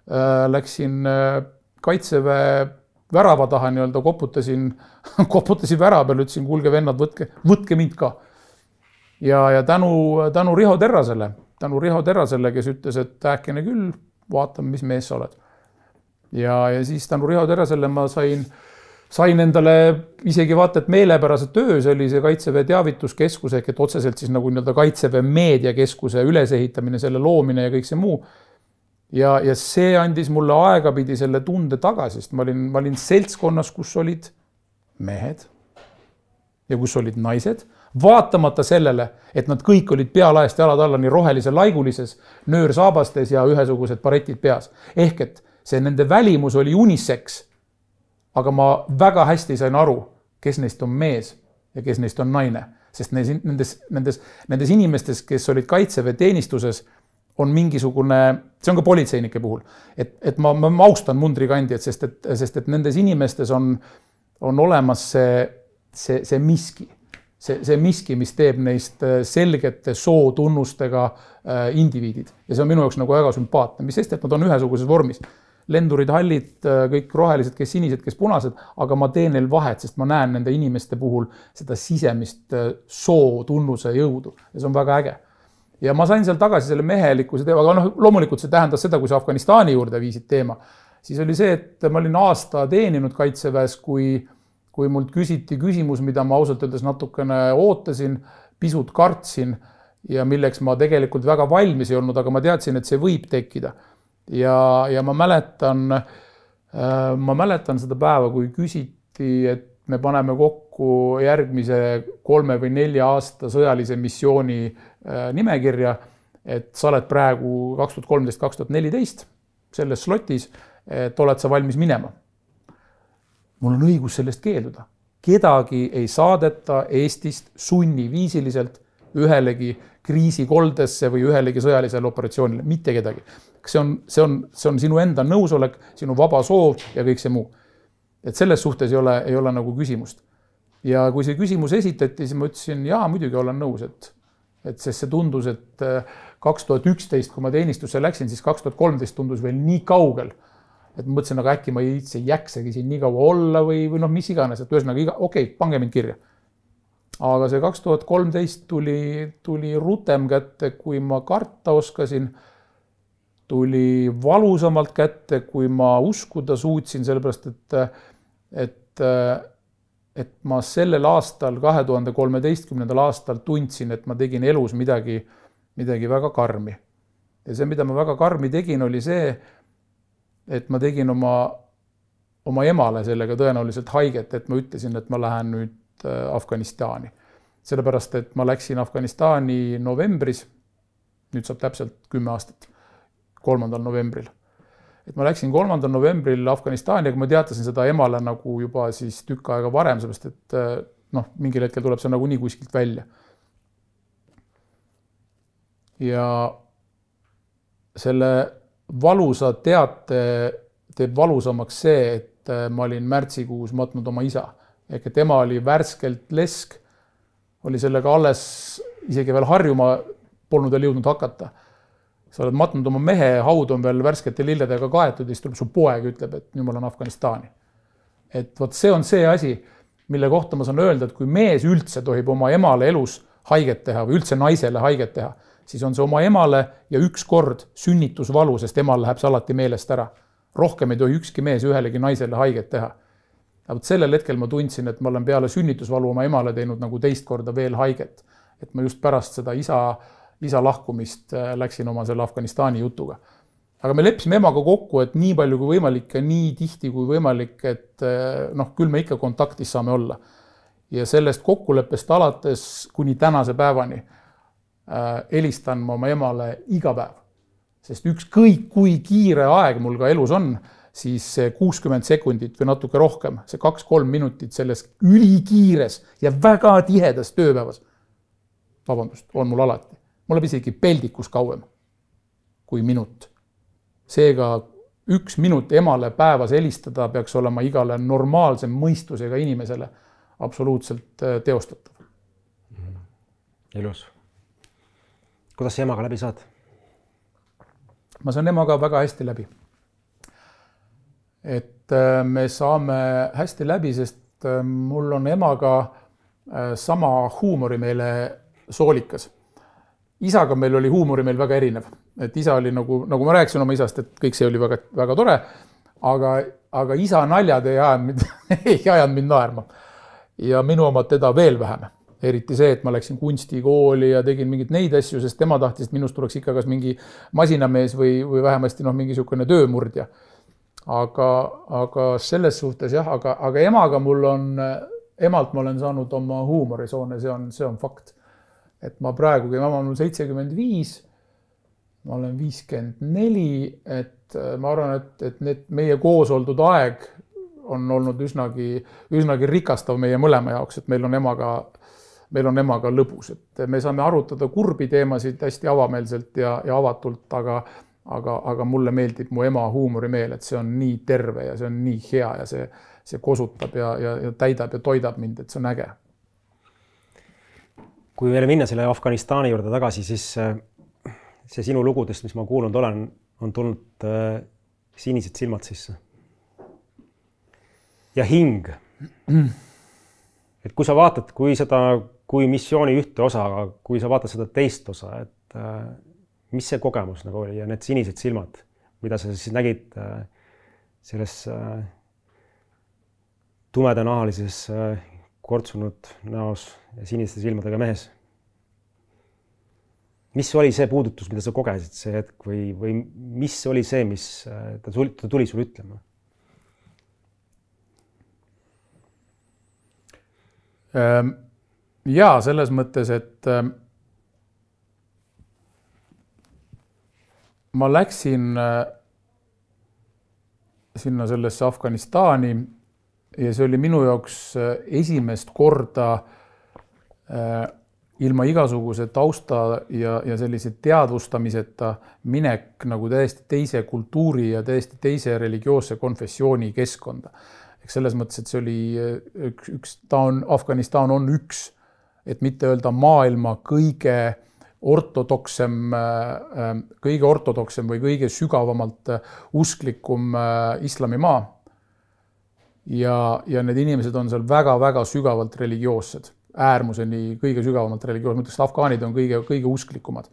äh, läksin äh, Kaitseväe värava taha nii-öelda koputasin, koputasin värava peal, ütlesin, kuulge vennad, võtke, võtke mind ka. Ja, ja tänu, tänu Riho Terrasele, tänu Riho Terrasele, kes ütles, et äkene küll, vaatame, mis mees sa oled. Ja, ja siis tänu Riho Terrasele ma sain, sain endale isegi vaata, et meelepärase töö, see oli see Kaitseväe teavituskeskus, ehk et otseselt siis nagu nii-öelda Kaitseväe meediakeskuse ülesehitamine, selle loomine ja kõik see muu. Ja, ja see andis mulle aegapidi selle tunde tagasi, sest ma olin, ma olin seltskonnas, kus olid mehed ja kus olid naised, vaatamata sellele, et nad kõik olid pealaest jalad alla nii rohelise laigulises, nöörsaabastes ja ühesugused paretid peas. Ehk et see nende välimus oli unisex, aga ma väga hästi sain aru, kes neist on mees ja kes neist on naine. Sest nendes, nendes, nendes inimestes, kes olid Kaitseväe teenistuses, on mingisugune, see on ka politseinike puhul, et, et ma, ma austan mundrikandjad, sest et, sest et nendes inimestes on, on olemas see, see, see miski, see, see miski, mis teeb neist selgete sootunnustega indiviidid. Ja see on minu jaoks nagu väga sümpaatne, mis sest, et nad on ühesuguses vormis. Lendurid, hallid, kõik rohelised, kes sinised, kes punased, aga ma teen neil vahet, sest ma näen nende inimeste puhul seda sisemist sootunnuse jõudu ja see on väga äge. Ja ma sain seal tagasi selle mehelikkuse teema, aga no, loomulikult see tähendas seda, kui sa Afganistani juurde viisid teema. Siis oli see, et ma olin aasta teeninud Kaitseväes, kui, kui mult küsiti küsimus, mida ma ausalt öeldes natukene ootasin, pisut kartsin ja milleks ma tegelikult väga valmis ei olnud, aga ma teadsin, et see võib tekkida. Ja, ja ma mäletan, ma mäletan seda päeva, kui küsiti, et me paneme kokku järgmise kolme või nelja aasta sõjalise missiooni nimekirja, et sa oled praegu kaks tuhat kolmteist kaks tuhat neliteist selles slotis, et oled sa valmis minema. Mul on õigus sellest keelduda. Kedagi ei saadeta Eestist sunniviisiliselt ühelegi kriisikoldesse või ühelegi sõjalisele operatsioonile, mitte kedagi. See on, see on, see on sinu enda nõusolek, sinu vaba soov ja kõik see muu. Et selles suhtes ei ole, ei ole nagu küsimust. Ja kui see küsimus esitati, siis ma ütlesin, jaa, muidugi olen nõus, et, et sest see tundus, et kaks tuhat üksteist, kui ma teenistusse läksin, siis kaks tuhat kolmteist tundus veel nii kaugel, et ma mõtlesin, aga äkki ma ei jäksegi siin nii kaua olla või, või noh, mis iganes, et ühesõnaga, iga, okei, okay, pange mind kirja. Aga see kaks tuhat kolmteist tuli, tuli rutem kätte, kui ma karta oskasin, tuli valusamalt kätte, kui ma uskuda suutsin, sellepärast, et, et, et ma sellel aastal, kahe tuhande kolmeteistkümnendal aastal tundsin, et ma tegin elus midagi, midagi väga karmi. Ja see, mida ma väga karmi tegin, oli see, et ma tegin oma, oma emale sellega tõenäoliselt haiget, et ma ütlesin, et ma lähen nüüd Afganistani. Sellepärast, et ma läksin Afganistani novembris, nüüd saab täpselt kümme aastat, kolmandal novembril. Et ma läksin kolmandal novembril Afganistani, aga ma teatasin seda emale nagu juba siis tükk aega varem, sellepärast, et noh, mingil hetkel tuleb see nagu nii kuskilt välja. Ja selle valusa teate teeb valusamaks see, et ma olin märtsikuus matnud oma isa. Ehk et tema oli värskelt lesk, oli sellega alles isegi veel harjuma polnud veel jõudnud hakata. Sa oled matnud oma mehe, haud on veel värskete lilledega kaetud ja siis tuleb su poeg ütleb, et nüüd ma olen Afganistani. Et võt see on see asi, mille kohta ma saan öelda, et kui mees üldse tohib oma emale elus haiget teha või üldse naisele haiget teha, siis on see oma emale ja üks kord sünnitusvalu, sest emal läheb see alati meelest ära. Rohkem ei tohi ükski mees ühelegi naisele haiget teha. Aga sellel hetkel ma tundsin, et ma olen peale sünnitusvalu oma emale teinud nagu teist korda veel haiget. Et ma just pärast seda isa, isa lahkumist läksin oma selle Afganistani jutuga. Aga me leppisime emaga kokku, et nii palju kui võimalik ja nii tihti kui võimalik, et noh, küll me ikka kontaktis saame olla. Ja sellest kokkuleppest alates kuni tänase päevani helistan ma oma emale iga päev. Sest ükskõik kui kiire aeg mul ka elus on, siis kuuskümmend sekundit või natuke rohkem, see kaks-kolm minutit selles ülikiires ja väga tihedas tööpäevas, vabandust, on mul alati. Mul läheb isegi peldikus kauem kui minut. Seega üks minut emale päevas helistada peaks olema igale normaalse mõistusega inimesele absoluutselt teostatav. Ilus. Kuidas sa emaga läbi saad? Ma saan emaga väga hästi läbi. Et me saame hästi läbi, sest mul on emaga sama huumori meile soolikas. Isaga meil oli huumori meil väga erinev. Et isa oli nagu, nagu ma rääkisin oma isast, et kõik see oli väga, väga tore, aga, aga isa naljad ei ajanud, ei ajanud mind naerma. Ja minu omad teda veel vähem. Eriti see, et ma läksin kunstikooli ja tegin mingit neid asju, sest tema tahtis, et minust tuleks ikka kas mingi masinamees või, või vähemasti noh, mingi sükene töömurdja. Aga, aga selles suhtes jah, aga, aga emaga mul on, emalt ma olen saanud oma huumorisoone, see on, see on fakt. Et ma praegu, kui ema on seitsekümmend viis, ma olen viiskümmend neli, et ma arvan, et, et need meie koos oldud aeg on olnud üsnagi, üsnagi rikastav meie mõlema jaoks, et meil on emaga meil on emaga lõbus, et me saame arutada kurbi teemasid hästi avameelselt ja, ja avatult, aga, aga, aga mulle meeldib mu ema huumorimeel, et see on nii terve ja see on nii hea ja see, see kosutab ja, ja, ja täidab ja toidab mind, et see on äge. Kui veel minna selle Afganistani juurde tagasi, siis see sinu lugudest, mis ma kuulnud olen, on tulnud sinised silmad sisse. Ja hing. Et kui sa vaatad, kui seda kui missiooni ühte osa, aga kui sa vaatad seda teist osa, et äh, mis see kogemus nagu oli ja need sinised silmad, mida sa siis nägid äh, selles äh, tumedanahalises äh, kortsunud näos ja siniste silmadega mehes? mis oli see puudutus, mida sa kogesid see hetk või, või mis oli see, mis ta tuli, ta tuli sulle ütlema? Jaa, selles mõttes, et ma läksin sinna sellesse Afganistani ja see oli minu jaoks esimest korda ilma igasuguse tausta ja, ja sellise teadvustamiseta minek nagu täiesti teise kultuuri ja täiesti teise religioosse konfessiooni keskkonda. Eks selles mõttes, et see oli üks, üks ta on, Afganistan on üks, et mitte öelda maailma kõige ortodoksem, kõige ortodoksem või kõige sügavamalt usklikum islamimaa. Ja, ja need inimesed on seal väga-väga sügavalt religioossed. Äärmuseni kõige sügavamalt religioossed, mõtleks, et afgaanid on kõige, kõige usklikumad.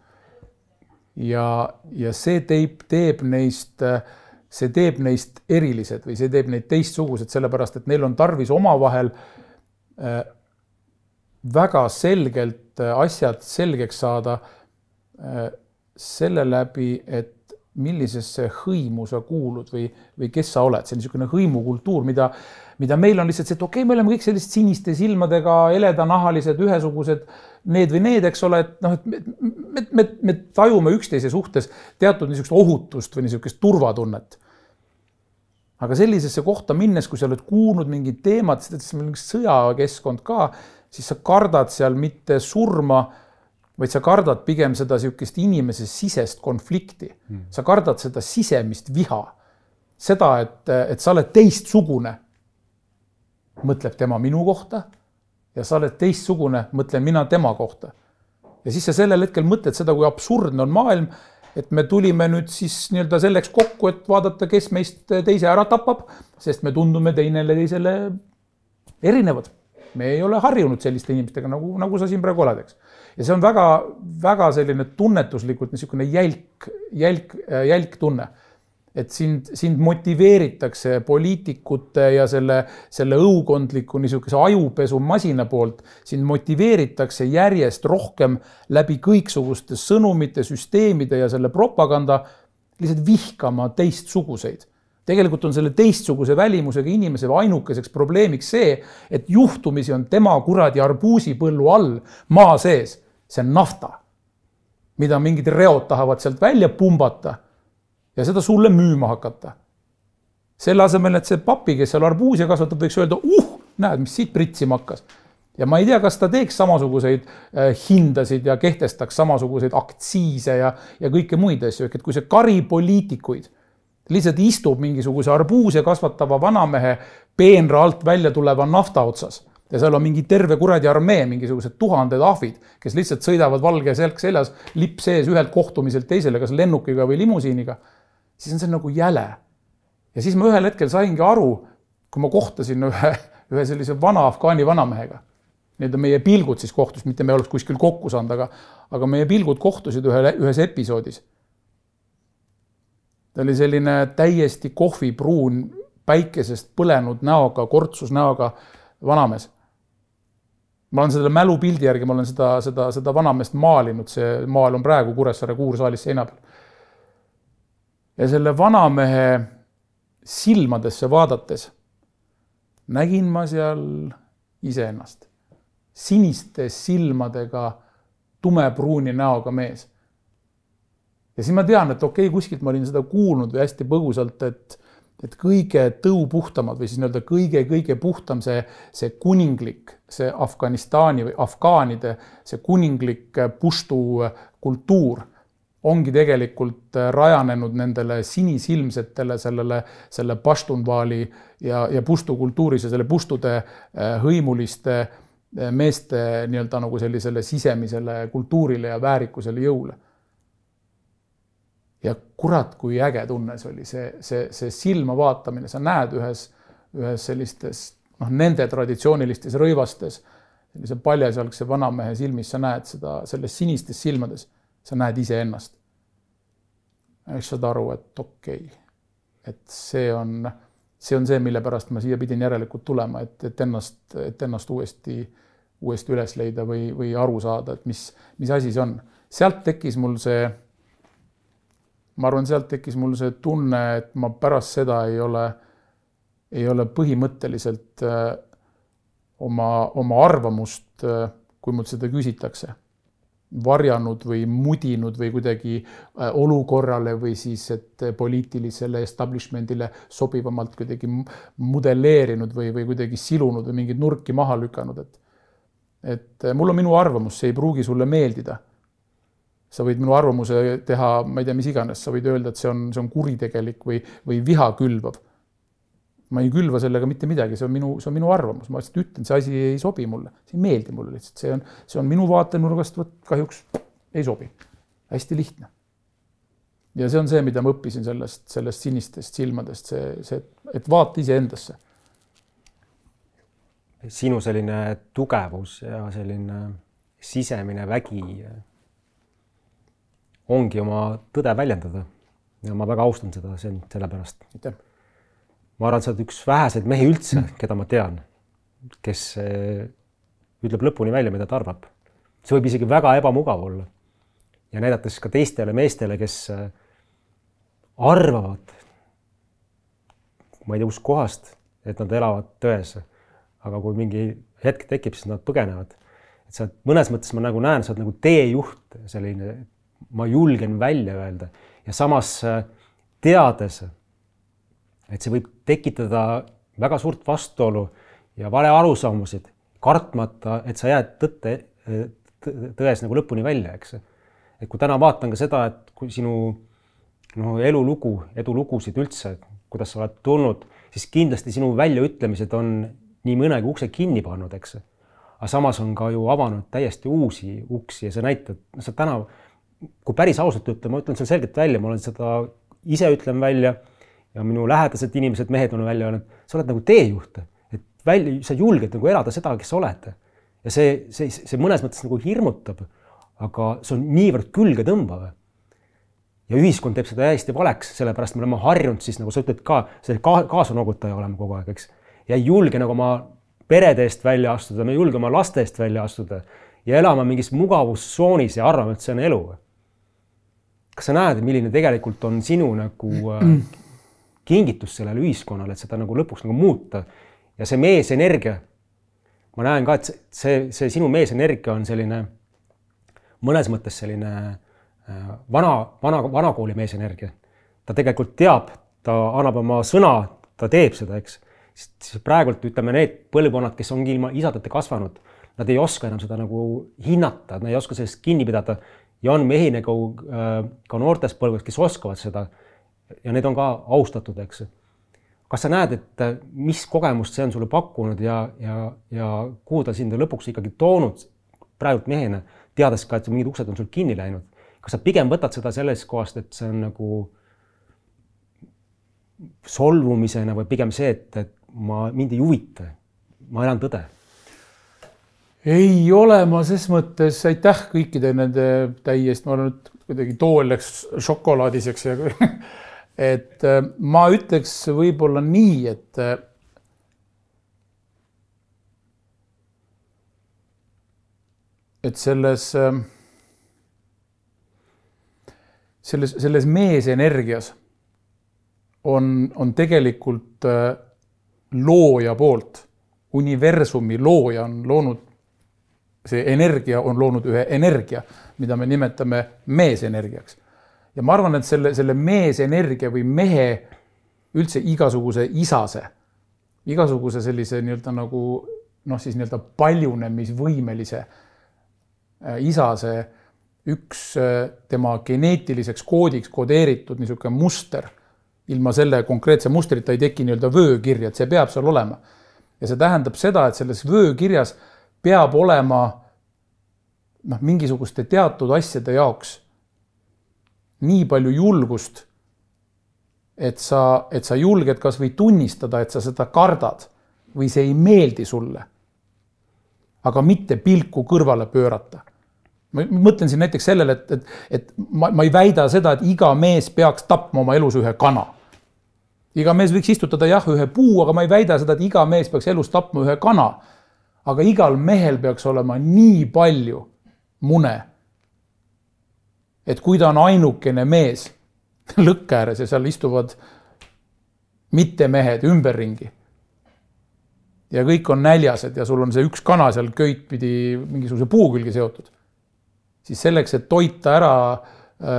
Ja, ja see teeb, teeb neist, see teeb neist erilised või see teeb neid teistsugused, sellepärast, et neil on tarvis omavahel väga selgelt asjad selgeks saada selle läbi, et millisesse hõimu sa kuulud või, või kes sa oled. See on niisugune hõimukultuur, mida, mida meil on lihtsalt see, et okei, okay, me oleme kõik sellist siniste silmadega, eledanahalised, ühesugused, need või need, eks ole, et, noh, et me, me, me, me tajume üksteise suhtes teatud niisugust ohutust või niisugust turvatunnet. Aga sellisesse kohta minnes, kui sa oled kuulnud mingid teemad, siis meil on sõjakeskkond ka, siis sa kardad seal mitte surma, vaid sa kardad pigem seda siukest inimese sisest konflikti. Hmm. Sa kardad seda sisemist viha. Seda, et, et sa oled teistsugune, mõtleb tema minu kohta ja sa oled teistsugune, mõtlen mina tema kohta. Ja siis sa sellel hetkel mõtled seda, kui absurdne on maailm, et me tulime nüüd siis nii-öelda selleks kokku, et vaadata, kes meist teise ära tapab, sest me tundume teinele teisele erinevad. Me ei ole harjunud selliste inimestega, nagu, nagu sa siin praegu oled, eks. Ja see on väga, väga selline tunnetuslikult niisugune jälk, jälk, jälk tunne, et sind, sind motiveeritakse poliitikute ja selle, selle õukondliku niisuguse ajupesu masina poolt, sind motiveeritakse järjest rohkem läbi kõiksuguste sõnumite, süsteemide ja selle propaganda lihtsalt vihkama teistsuguseid. Tegelikult on selle teistsuguse välimusega inimese ainukeseks probleemiks see, et juhtumisi on tema kuradi arbuusipõllu all maa sees. See on nafta, mida mingid reod tahavad sealt välja pumbata ja seda sulle müüma hakata. Selle asemel, et see papi, kes seal arbuusia kasvatab, võiks öelda, uh, näed, mis siit pritsima hakkas. Ja ma ei tea, kas ta teeks samasuguseid hindasid ja kehtestaks samasuguseid aktsiise ja, ja kõike muid asju. Et kui see kari poliitikuid lihtsalt istub mingisuguse arbuuse kasvatava vanamehe peenra alt välja tuleva nafta otsas ja seal on mingi terve kuradi armee, mingisugused tuhanded ahvid, kes lihtsalt sõidavad valge selg seljas, lipp sees ühelt kohtumiselt teisele, kas lennukiga või limusiiniga, siis on see nagu jäle. Ja siis ma ühel hetkel saingi aru, kui ma kohtasin ühe, ühe sellise vana afgaani vanamehega. Need on meie pilgud siis kohtus, mitte me oleks kuskil kokku saanud, aga, aga meie pilgud kohtusid ühe, ühes episoodis. Ta oli selline täiesti kohvipruun, päikesest põlenud näoga, kortsus näoga vanamees. Ma olen selle mälupildi järgi, ma olen seda, seda, seda vanameest maalinud, see maal on praegu Kuressaare Kuursaalis seina peal. Ja selle vanamehe silmadesse vaadates nägin ma seal iseennast. Siniste silmadega, tumepruuni näoga mees. Ja siis ma tean, et okei, kuskilt ma olin seda kuulnud või hästi põgusalt, et, et kõige tõupuhtamad või siis nii-öelda kõige, kõige puhtam see, see kuninglik, see Afganistani või afgaanide, see kuninglik puštu kultuur ongi tegelikult rajanenud nendele sinisilmsetele sellele, selle paštunvaali ja, ja puštu kultuuris ja selle puštude hõimuliste meeste nii-öelda nagu sellisele sisemisele kultuurile ja väärikusele jõule. Ja kurat, kui äge tunne see oli, see, see, see silma vaatamine, sa näed ühes, ühes sellistes, noh, nende traditsioonilistes rõivastes, sellise paljasalgse vanamehe silmis, sa näed seda, selles sinistes silmades, sa näed ise ennast. Ja saad aru, et okei, et see on, see on see, mille pärast ma siia pidin järelikult tulema, et, et, ennast, et ennast uuesti, uuesti üles leida või, või aru saada, et mis, mis asi see on. Sealt tekkis mul see, ma arvan, sealt tekkis mul see tunne, et ma pärast seda ei ole, ei ole põhimõtteliselt oma, oma arvamust, kui mul seda küsitakse, varjanud või mudinud või kuidagi olukorrale või siis, et poliitilisele establishmentile sobivamalt kuidagi modelleerinud või, või kuidagi silunud või mingid nurki maha lükanud. Et, et mul on minu arvamus, see ei pruugi sulle meeldida. Sa võid minu arvamuse teha, ma ei tea, mis iganes, sa võid öelda, et see on, see on kuritegelik või, või viha külvav. Ma ei külva sellega mitte midagi, see on minu, see on minu arvamus. Ma lihtsalt ütlen, see asi ei sobi mulle, see ei meeldi mulle lihtsalt. See on, see on minu vaatenurgast, võt, kahjuks ei sobi. Hästi lihtne. Ja see on see, mida ma õppisin sellest, sellest sinistest silmadest, see, see, et vaata ise endasse. Sinu selline tugevus ja selline sisemine vägi ongi oma tõde väljendada. Ja ma väga austan seda selle pärast. Aitäh. Ma arvan, sa oled üks väheseid mehi üldse, keda ma tean, kes ütleb lõpuni välja, mida ta arvab. See võib isegi väga ebamugav olla. Ja näidates ka teistele meestele, kes arvavad, ma ei tea, kus kohast, et nad elavad tões. Aga kui mingi hetk tekib, siis nad põgenevad. Et sa mõnes mõttes ma nagu näen, sa oled nagu teejuht, selline, ma julgen välja öelda. Ja samas teades, et see võib tekitada väga suurt vastuolu ja vale arusaamusid, kartmata, et sa jääd tõtte, tões nagu lõpuni välja, eks. Et kui täna vaatan ka seda, et kui sinu no, elulugu, edulugusid üldse, kuidas sa oled tulnud, siis kindlasti sinu väljaütlemised on nii mõnegi ukse kinni pannud, eks. Aga samas on ka ju avanud täiesti uusi uksi ja see näitab, sa täna, kui päris ausalt ütle, ma ütlen seal selgelt välja, ma olen seda ise ütlen välja, ja minu lähedased inimesed, mehed on välja öelnud, sa oled nagu teejuht, et välja, sa julged nagu elada seda, kes sa oled. Ja see, see, see mõnes mõttes nagu hirmutab, aga see on niivõrd külge tõmbav. Ja ühiskond teeb seda hästi valeks, sellepärast me oleme harjunud siis, nagu sa ütled ka, see ka, kaasanogutaja olema kogu aeg, eks. Ja ei julge nagu oma perede eest välja astuda, me ei julge oma laste eest välja astuda ja elama mingis mugavustsoonis ja arvame, et see on elu. Kas sa näed, milline tegelikult on sinu nagu kingitus sellele ühiskonnale, et seda nagu lõpuks nagu muuta. Ja see meesenergia, ma näen ka, et see, see sinu meesenergia on selline, mõnes mõttes selline vana, vana, vanakooli meesenergia. Ta tegelikult teab, ta annab oma sõna, ta teeb seda, eks. Praegult ütleme need põlvkonnad, kes ongi ilma isadate kasvanud, nad ei oska enam seda nagu hinnata, nad ei oska sellest kinni pidada ja on mehi nagu ka noortes põlvkonnad, kes oskavad seda ja need on ka austatud, eks. Kas sa näed, et mis kogemust see on sulle pakkunud ja, ja, ja kuhu ta sind lõpuks ikkagi toonud praegult mehena, teades ka, et mingid uksed on sul kinni läinud? Kas sa pigem võtad seda selles kohast, et see on nagu solvumisena või pigem see, et, et ma mind ei huvita, ma elan tõde? Ei ole ma ses mõttes, aitäh kõikide nende täiesti, ma olen nüüd kuidagi tool läks šokolaadiseks ja et ma ütleks võib-olla nii, et et selles selles, selles meesenergias on, on tegelikult looja poolt, universumi looja on loonud, see energia on loonud ühe energia, mida me nimetame meesenergiaks. Ja ma arvan, et selle, selle meesenergia või mehe üldse igasuguse isase, igasuguse sellise nii-öelda nagu, noh siis nii-öelda paljunemisvõimelise isase üks tema geneetiliseks koodiks kodeeritud niisugune muster. Ilma selle konkreetse mustrita ei teki nii-öelda vöökirja, et see peab seal olema. Ja see tähendab seda, et selles vöökirjas peab olema noh, mingisuguste teatud asjade jaoks nii palju julgust, et sa, et sa julged kas või tunnistada, et sa seda kardad või see ei meeldi sulle, aga mitte pilku kõrvale pöörata. Ma mõtlen siin näiteks sellele, et, et, et ma, ma ei väida seda, et iga mees peaks tapma oma elus ühe kana. Iga mees võiks istutada jah ühe puu, aga ma ei väida seda, et iga mees peaks elus tapma ühe kana. aga igal mehel peaks olema nii palju mune, et kui ta on ainukene mees lõkke ääres ja seal istuvad mitte mehed ümberringi ja kõik on näljased ja sul on see üks kana seal köit pidi mingisuguse puu külge seotud, siis selleks, et toita ära,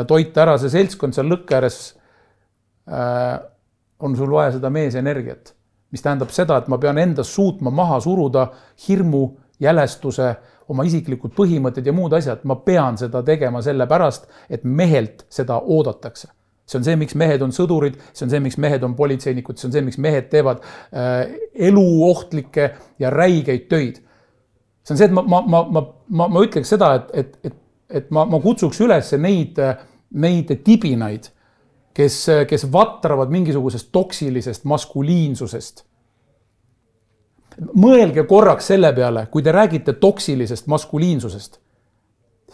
toita ära see seltskond seal lõkke ääres, on sul vaja seda meesenergiat, mis tähendab seda, et ma pean endas suutma maha suruda hirmu, jälestuse, oma isiklikud põhimõtted ja muud asjad. Ma pean seda tegema selle pärast, et mehelt seda oodatakse. See on see, miks mehed on sõdurid, see on see, miks mehed on politseinikud, see on see, miks mehed teevad äh, eluohtlikke ja räigeid töid. See on see, et ma, ma, ma, ma, ma, ma ütleks seda, et, et, et, et ma, ma kutsuks üles neid, neid tibinaid, kes, kes vatravad mingisugusest toksilisest maskuliinsusest. Mõelge korraks selle peale, kui te räägite toksilisest maskuliinsusest.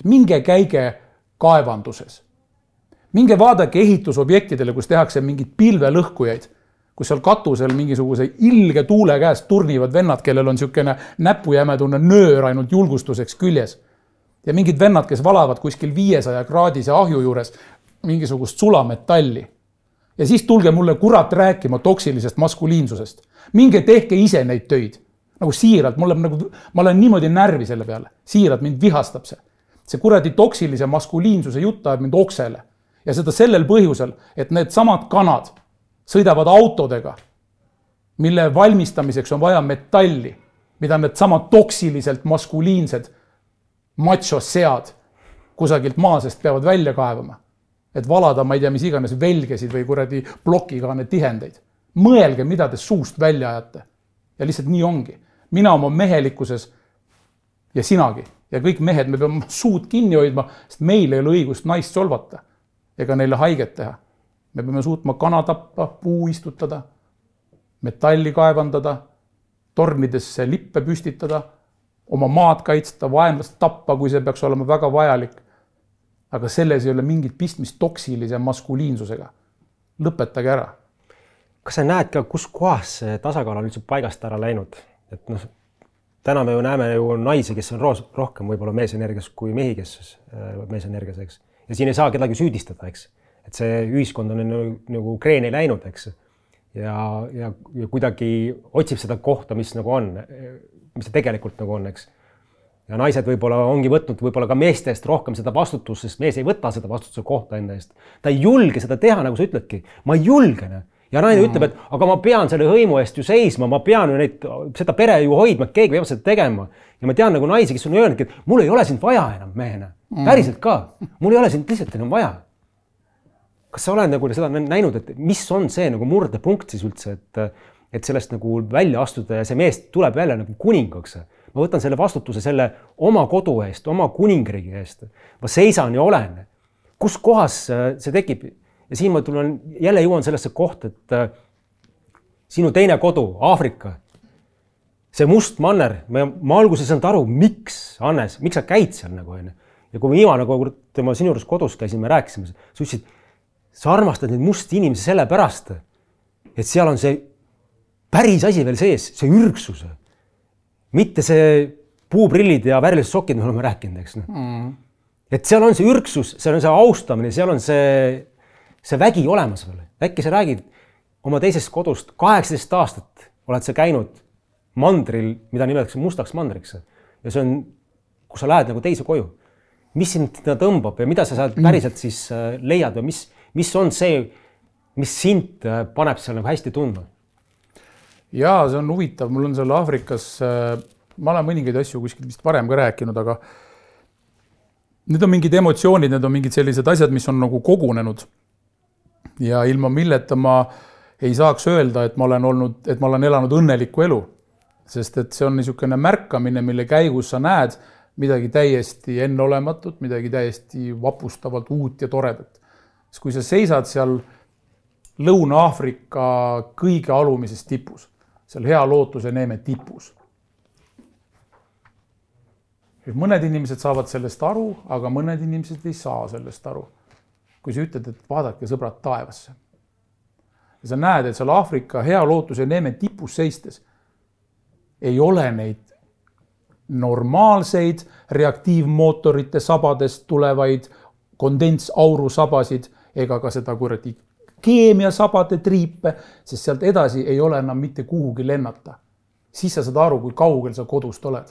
Minge käige kaevanduses. Minge vaadake ehitusobjektidele, kus tehakse mingid pilvelõhkujaid, kus seal katusel mingisuguse ilge tuule käest turnivad vennad, kellel on niisugune näpujämedune nöör ainult julgustuseks küljes. Ja mingid vennad, kes valavad kuskil viiesaja kraadise ahju juures mingisugust sulametalli. Ja siis tulge mulle kurat rääkima toksilisest maskuliinsusest. Minge tehke ise neid töid. Nagu siiralt, mulle, nagu, ma olen niimoodi närvi selle peale. Siiralt mind vihastab see. See kuradi toksilise maskuliinsuse jutt ajab mind oksele. Ja seda sellel põhjusel, et need samad kanad sõidavad autodega, mille valmistamiseks on vaja metalli, mida need samad toksiliselt maskuliinsed macho-sead kusagilt maasest peavad välja kaevama, et valada, ma ei tea, mis iganes velgesid või kuradi plokikaane tihendeid. Mõelge, mida te suust välja ajate. Ja lihtsalt nii ongi. Mina oma mehelikkuses ja sinagi ja kõik mehed, me peame suud kinni hoidma, sest meil ei ole õigust naist solvata ega neile haiget teha. Me peame suutma kana tappa, puu istutada, metalli kaevandada, tornidesse lippe püstitada, oma maad kaitsta, vaenlast tappa, kui see peaks olema väga vajalik. Aga selles ei ole mingit pistmist toksilise maskuliinsusega. Lõpetage ära. Kas sa näed ka, kus kohas see tasakaal on üldse paigast ära läinud? Et noh, täna me ju näeme ju naisi, kes on rohkem võib-olla meesenergias kui mehi, kes meesenergias, eks. Ja siin ei saa kedagi süüdistada, eks. Et see ühiskond on nagu, nagu kreeni läinud, eks. Ja, ja, ja kuidagi otsib seda kohta, mis nagu on, mis see tegelikult nagu on, eks. Ja naised võib-olla ongi võtnud võib-olla ka meestest rohkem seda vastutust, sest mees ei võta seda vastutuse kohta enda eest. Ta ei julge seda teha, nagu sa ütledki. Ma ei julge. Ja naine mm. ütleb, et aga ma pean selle hõimu eest ju seisma, ma pean ju neid, seda pere ju hoidma, et keegi peab seda tegema. Ja ma tean nagu naisi, kes on öelnud, et mul ei ole sind vaja enam mehena. Päriselt ka. Mul ei ole sind lihtsalt enam vaja. Kas sa oled nagu seda näinud, et mis on see nagu murdepunkt siis üldse, et, et sellest nagu välja astuda ja see mees tuleb välja nagu kuningaks. Ma võtan selle vastutuse selle oma kodu eest, oma kuningriigi eest. Ma seisan ja olen. Kus kohas see tekib? Ja siin ma tulen, jälle jõuan sellesse koht, et sinu teine kodu, Aafrika, see must manner, ma, ma alguses ei saanud aru, miks, Hannes, miks sa käid seal nagu enne? Ja kui ma viimane nagu tema sinu juures kodus käisin, me rääkisime, sa ütlesid, sa armastad neid musti inimesi selle pärast, et seal on see päris asi veel sees, see ürgsus. Mitte see puuprillid ja värvilised sokid, me oleme rääkinud, eks. Mm. Et seal on see ürgsus, seal on see austamine, seal on see, see vägi olemas veel. Äkki sa räägid oma teisest kodust, kaheksateist aastat oled sa käinud mandril, mida nimetatakse mustaks mandriks. Ja see on, kus sa lähed nagu teise koju. Mis sind tõmbab ja mida sa sealt päriselt siis leiad või mis, mis on see, mis sind paneb seal nagu hästi tundma? Jaa, see on huvitav. Mul on seal Aafrikas, ma olen mõningaid asju kuskil vist varem ka rääkinud, aga need on mingid emotsioonid, need on mingid sellised asjad, mis on nagu kogunenud. Ja ilma milleta ma ei saaks öelda, et ma olen olnud, et ma olen elanud õnnelikku elu. Sest et see on niisugune märkamine, mille käigus sa näed midagi täiesti enneolematut, midagi täiesti vapustavalt uut ja toredat. Sest kui sa seisad seal Lõuna-Aafrika kõige alumises tipus, seal hea lootuse neeme tipus. Mõned inimesed saavad sellest aru, aga mõned inimesed ei saa sellest aru. Kui sa ütled, et vaadake sõbrad taevasse. Ja sa näed, et seal Aafrika hea lootuse neeme tipus seistes ei ole neid normaalseid reaktiivmootorite sabadest tulevaid kondensauru sabasid ega ka seda kuradi keemiasabade triipe, sest sealt edasi ei ole enam mitte kuhugi lennata. Siis sa saad aru, kui kaugel sa kodust oled.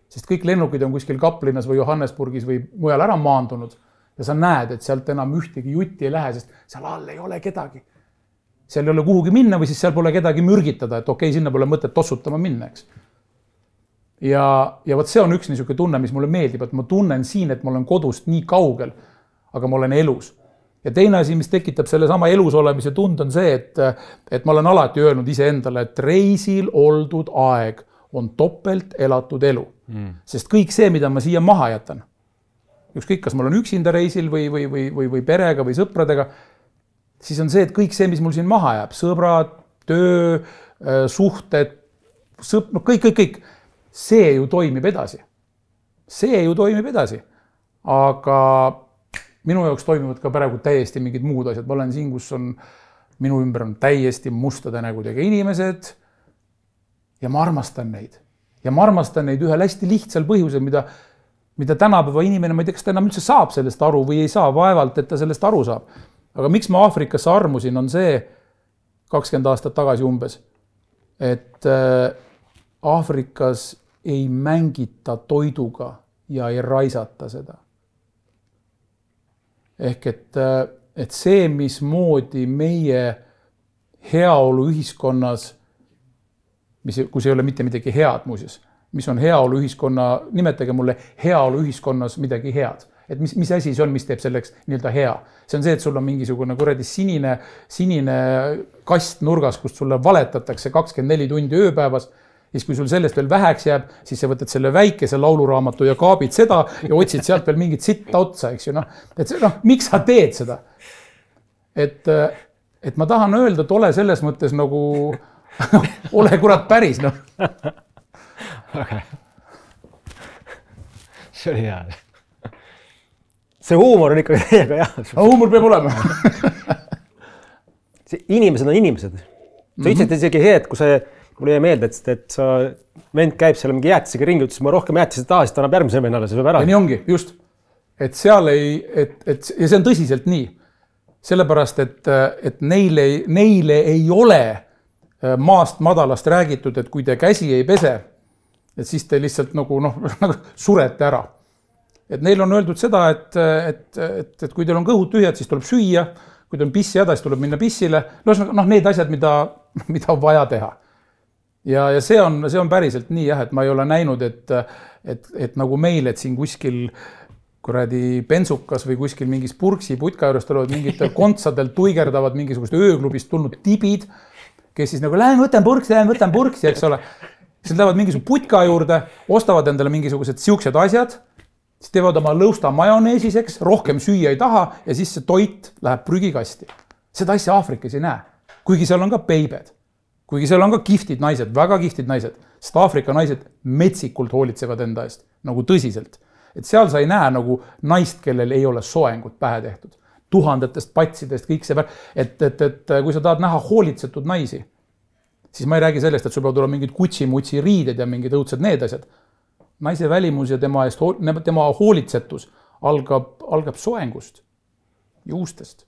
Sest kõik lennukid on kuskil Kaplinas või Johannesburgis või mujal ära maandunud ja sa näed, et sealt enam ühtegi jutti ei lähe, sest seal all ei ole kedagi. Seal ei ole kuhugi minna või siis seal pole kedagi mürgitada, et okei, sinna pole mõtet tossutama minna, eks. Ja, ja võt see on üks niisugune tunne, mis mulle meeldib, et ma tunnen siin, et ma olen kodust nii kaugel, aga ma olen elus. Ja teine asi, mis tekitab selle sama elus olemise tund on see, et, et ma olen alati öelnud ise endale, et reisil oldud aeg on topelt elatud elu. Mm. Sest kõik see, mida ma siia maha jätan, ükskõik, kas ma olen üksinda reisil või, või, või, või, või perega või sõpradega, siis on see, et kõik see, mis mul siin maha jääb, sõbrad, töö, suhted, sõp, no kõik, kõik, kõik, see ju toimib edasi. See ju toimib edasi. Aga minu jaoks toimivad ka praegu täiesti mingid muud asjad. Ma olen siin, kus on, minu ümber on täiesti mustade nägudega inimesed ja ma armastan neid. Ja ma armastan neid ühel hästi lihtsal põhjusel, mida, mida tänapäeva inimene, ma ei tea, kas ta enam üldse saab sellest aru või ei saa, vaevalt, et ta sellest aru saab. Aga miks ma Aafrikasse armusin, on see kakskümmend aastat tagasi umbes, et Aafrikas ei mängita toiduga ja ei raisata seda. Ehk et, et see, mismoodi meie heaolu ühiskonnas, mis, kus ei ole mitte midagi head muuseas, mis on heaolu ühiskonna, nimetage mulle heaolu ühiskonnas midagi head. Et mis, mis asi see on, mis teeb selleks nii-öelda hea. See on see, et sul on mingisugune kuradi sinine, sinine kast nurgas, kust sulle valetatakse kakskümmend neli tundi ööpäevas. Ja siis, kui sul sellest veel väheks jääb, siis sa võtad selle väikese lauluraamatu ja kaabid seda ja otsid sealt veel mingit sitta otsa, eks ju. No, et see, noh, miks sa teed seda? Et, et ma tahan öelda, et ole selles mõttes nagu, ole kurat päris. No. Okay. See oli hea. See huumor on ikka täiega hea. Huumor peab olema. See inimesed on inimesed. Sa mm-hmm. ütlesid isegi see, et kui see mulle jäi meelde, et, et sa vend käib seal mingi jäätisega ringi, ütles, ma rohkem jäätised taha, siis ta annab järgmise vennale, see peab ära. Ja nii ongi, just. Et seal ei, et, et, ja see on tõsiselt nii. Sellepärast, et, et neile, neile ei ole maast madalast räägitud, et kui te käsi ei pese, et siis te lihtsalt nagu, noh, nagu surete ära. Et neil on öeldud seda, et, et, et, et kui teil on kõhud tühjad, siis tuleb süüa, kui teil on pissi häda, siis tuleb minna pissile. No, noh, need asjad, mida, mida on vaja teha. Ja, ja see on, see on päriselt nii, jah, et ma ei ole näinud, et, et, et nagu meil, et siin kuskil kuradi pensukas või kuskil mingis purksi putka juures tulevad mingitel kontsadel tuigerdavad mingisugust ööklubist tulnud tibid, kes siis nagu, lähen võtan purksi, lähen võtan purksi, eks ole. Siis lähevad mingisuguse putka juurde, ostavad endale mingisugused siuksed asjad, siis teevad oma lõusta majoneesiseks, rohkem süüa ei taha ja siis see toit läheb prügikasti. Seda asja Aafrikas ei näe, kuigi seal on ka peibed. Kuigi seal on ka kihtid naised, väga kihtid naised, sest Aafrika naised metsikult hoolitsevad enda eest, nagu tõsiselt. Et seal sa ei näe nagu naist, kellel ei ole soengut pähe tehtud. Tuhandetest patsidest, kõik see, et, et, et kui sa tahad näha hoolitsetud naisi, siis ma ei räägi sellest, et sul peavad olema mingid kutsi-mutsi riided ja mingid õudsed need asjad. Naise välimus ja tema, eest, tema hoolitsetus algab, algab soengust, juustest,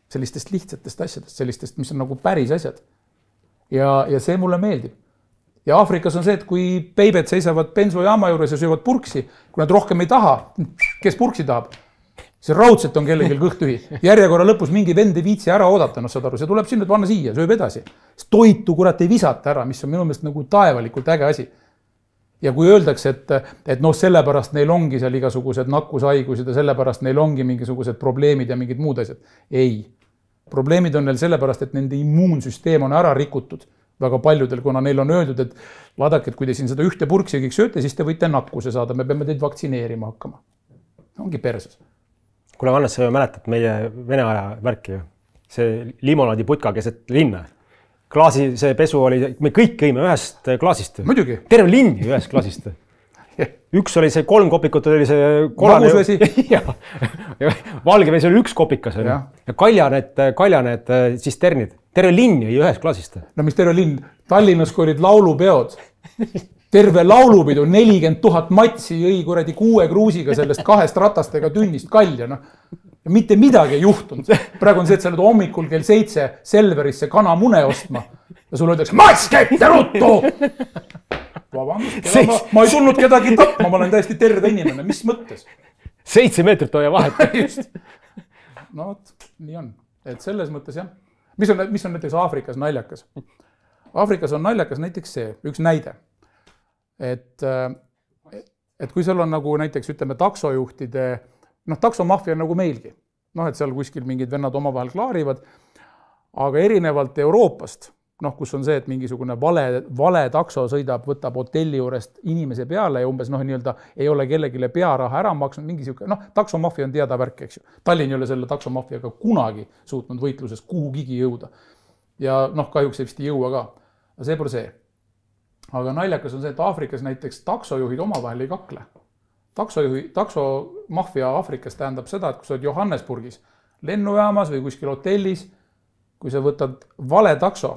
sellistest lihtsatest asjadest, sellistest, mis on nagu päris asjad. Ja, ja see mulle meeldib. Ja Aafrikas on see, et kui peibed seisavad bensujaama juures ja söövad purksi, kui nad rohkem ei taha, kes purksi tahab? See raudselt on kellelgi kõht tühi. Järjekorra lõpus mingi vend ei viitsi ära oodata, no saad aru, see tuleb sinna, et vanna siia, sööb edasi. Toitu kurat ei visata ära, mis on minu meelest nagu taevalikult äge asi. Ja kui öeldakse, et, et noh, sellepärast neil ongi seal igasugused nakkushaigused ja sellepärast neil ongi mingisugused probleemid ja mingid muud asjad. Ei. Probleemid on neil sellepärast, et nende immuunsüsteem on ära rikutud väga paljudel, kuna neil on öeldud, et vaadake, et kui te siin seda ühte purksi kõik sööte, siis te võite nakkuse saada, me peame teid vaktsineerima hakkama. Ongi perses. Kule, Hannes, sa mäletad meie Vene aja värki ju. See limonaadi putka keset linna. Klaasi, see pesu oli, me kõik kõime ühest klaasist. Muidugi. Terve linn ühest klaasist. Üks oli see kolm kopikut, oli see kolane. Magusvesi. Ja, valgevesi oli üks kopikas. Ja, ja kaljaned, kaljaned cisternid. Terve linn jäi ühes klaasist. No mis terve linn? Tallinnas, kui olid laulupeod, terve laulupidu, nelikümmend tuhat matsi jõi kuradi kuue kruusiga sellest kahest ratastega tünnist kalja, noh. Ja mitte midagi ei juhtunud. Praegu on see, et sa oled hommikul kell seitse Selverisse kanamune ostma ja sulle öeldakse, mats käibte ruttu! Vabandust, ma, ma ei tulnud kedagi tapma, ma olen täiesti terve inimene, mis mõttes? Seitse meetrit hoia vahet. Just. No, nii on. Et selles mõttes, jah. Mis on, mis on näiteks Aafrikas naljakas? Aafrikas on naljakas näiteks see, üks näide. Et, et kui seal on nagu näiteks, ütleme, taksojuhtide, noh, taksomafia on nagu meilgi. Noh, et seal kuskil mingid vennad omavahel klaarivad, aga erinevalt Euroopast, noh, kus on see, et mingisugune vale, vale takso sõidab, võtab hotelli juurest inimese peale ja umbes, noh, nii-öelda ei ole kellegile pearaha ära maksnud, mingi siuke, noh, taksomafia on teada värk, eks ju. Tallinn ei ole selle taksomafiaga kunagi suutnud võitluses kuhugigi jõuda. Ja noh, kahjuks ei vist ei jõua ka. Aga see pole see. Aga naljakas on see, et Aafrikas näiteks taksojuhid omavahel ei kakle. Taksojuhi, taksomafia Aafrikas tähendab seda, et kui sa oled Johannesburgis lennujaamas või kuskil hotellis, kui sa võtad vale takso,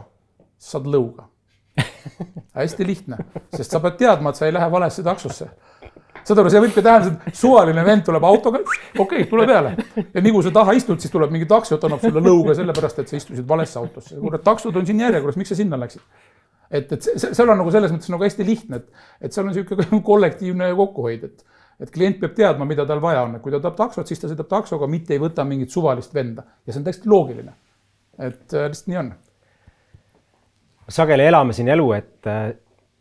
saad lõuga. Hästi lihtne, sest sa pead teadma, et sa ei lähe valesse taksosse. Saad aru, see võib ka tähendada, et suvaline vend tuleb autoga, okei, okay, tule peale. Ja nii kui sa taha istud, siis tuleb mingi taksot, annab sulle lõuga sellepärast, et sa istusid valesse autosse. Kuule, taksod on siin järjekorras, miks sa sinna läksid? Et, et seal on nagu selles mõttes nagu hästi lihtne, et, et seal on niisugune kollektiivne kokkuhoid, et, et klient peab teadma, mida tal vaja on. Kui ta tahab taksot, siis ta sõidab taksoga, mitte ei võta mingit suvalist venda. Ja see on täiesti loogiline. Et lihtsalt nii on. Sageli elame siin elu, et äh,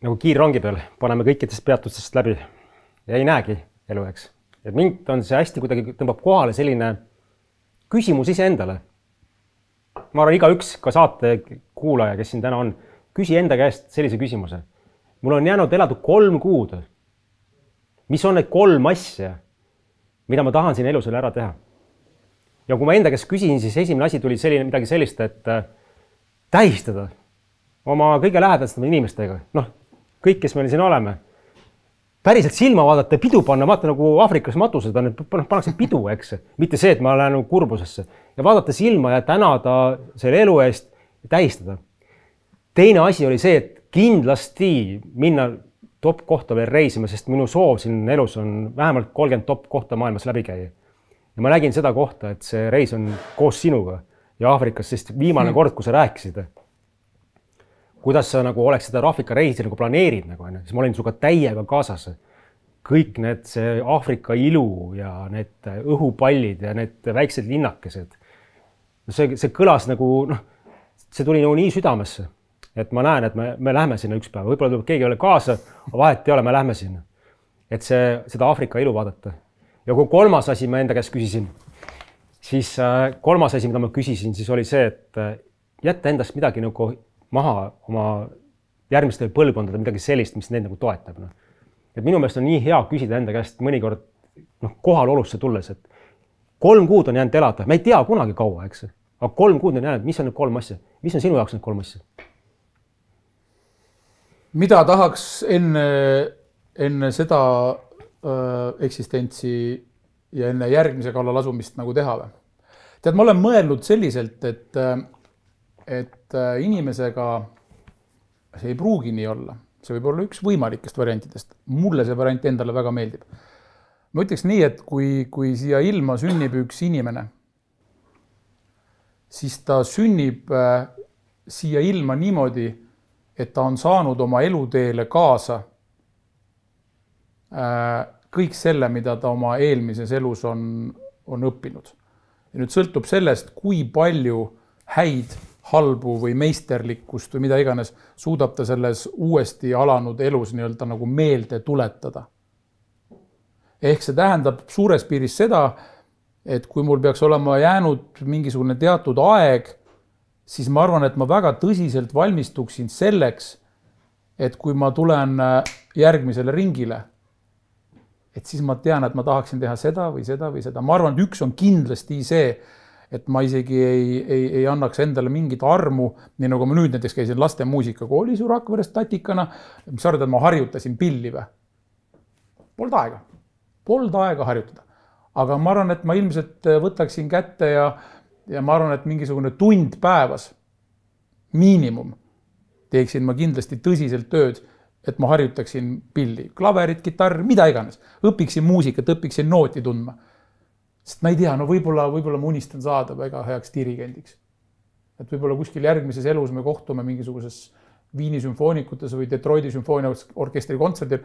nagu kiirrongi peal paneme kõikidest peatustest läbi ja ei näegi elu, eks. Et mind on see hästi kuidagi tõmbab kohale selline küsimus ise endale. Ma arvan, iga üks ka saate kuulaja, kes siin täna on, küsi enda käest sellise küsimuse. Mul on jäänud elada kolm kuud. Mis on need kolm asja, mida ma tahan siin elus ära teha? Ja kui ma enda käest küsin, siis esimene asi tuli selline, midagi sellist, et äh, tähistada oma kõige lähedastama inimestega. Noh, kõik, kes meil siin oleme. Päriselt silma vaadata ja pidu panna, vaata nagu Aafrikas matused on, et pannakse pidu, eks. Mitte see, et ma lähen kurbusesse. Ja vaadata silma ja tänada selle elu eest ja tähistada. Teine asi oli see, et kindlasti minna top kohta veel reisima, sest minu soov siin elus on vähemalt kolmkümmend top kohta maailmas läbi käia. Ja ma nägin seda kohta, et see reis on koos sinuga ja Aafrikas, sest viimane kord, kui sa rääkisid, kuidas sa nagu oleks seda Aafrika reisi nagu planeerid, nagu, siis ma olin suga täiega kaasas. Kõik need see Aafrika ilu ja need õhupallid ja need väiksed linnakesed. See, see kõlas nagu, noh, see tuli nagu nii südamesse. Et ma näen, et me, me lähme sinna üks päev. Võib-olla tuleb keegi ole kaasa, aga vahet ei ole, me lähme sinna. Et see, seda Aafrika ilu vaadata. Ja kui kolmas asi ma enda käest küsisin, siis kolmas asi, mida ma küsisin, siis oli see, et jätta endast midagi nagu maha oma järgmistele põlvkondadele, midagi sellist, mis neid nagu toetab. No. Et minu meelest on nii hea küsida enda käest mõnikord noh, kohalolusse tulles, et kolm kuud on jäänud elada. Me ei tea kunagi kaua, eks. Aga kolm kuud on jäänud, mis on need kolm asja? Mis on sinu jaoks need kolm asja? Mida tahaks enne, enne seda äh, eksistentsi ja enne järgmise kallal asumist nagu teha või? Tead, ma olen mõelnud selliselt, et, et inimesega see ei pruugi nii olla. See võib olla üks võimalikest variantidest. Mulle see variant endale väga meeldib. Ma ütleks nii, et kui, kui siia ilma sünnib üks inimene, siis ta sünnib äh, siia ilma niimoodi, et ta on saanud oma eluteele kaasa kõik selle, mida ta oma eelmises elus on, on õppinud. Ja nüüd sõltub sellest, kui palju häid, halbu või meisterlikkust või mida iganes suudab ta selles uuesti alanud elus nii-öelda nagu meelde tuletada. Ehk see tähendab suures piiris seda, et kui mul peaks olema jäänud mingisugune teatud aeg, siis ma arvan, et ma väga tõsiselt valmistuksin selleks, et kui ma tulen järgmisele ringile, et siis ma tean, et ma tahaksin teha seda või seda või seda. Ma arvan, et üks on kindlasti see, et ma isegi ei, ei, ei annaks endale mingit armu, nii nagu ma nüüd näiteks käisin laste muusikakoolis ju Rakveres tatikana, mis arvad, et ma harjutasin pilli või? Pold aega. Pold aega harjutada. Aga ma arvan, et ma ilmselt võtaksin kätte ja Ja ma arvan, et mingisugune tund päevas miinimum teeksin ma kindlasti tõsiselt tööd, et ma harjutaksin pilli, klaverit, kitarr, mida iganes. Õpiksin muusikat, õpiksin nooti tundma. Sest ma ei tea, no võib-olla, võib-olla ma unistan saada väga heaks dirigendiks. Et võib-olla kuskil järgmises elus me kohtume mingisuguses Viini sümfoonikutes või Detroiti sümfooniaorkestri kontserdil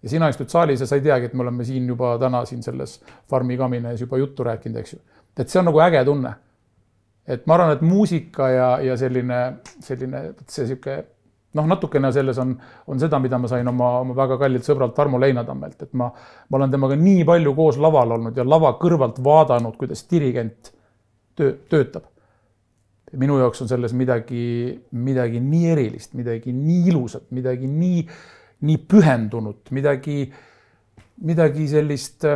ja sina istud saalis ja sa ei teagi, et me oleme siin juba täna siin selles farmi kamines juba juttu rääkinud, eks ju. Et see on nagu äge tunne. Et ma arvan, et muusika ja, ja selline, selline see siuke, noh, natukene selles on, on seda, mida ma sain oma, oma väga kallilt sõbralt Tarmo Leinatammelt, et ma, ma olen temaga nii palju koos laval olnud ja lava kõrvalt vaadanud, kuidas dirigent töö, töötab. Minu jaoks on selles midagi, midagi nii erilist, midagi nii ilusat, midagi nii, nii pühendunud, midagi, midagi sellist,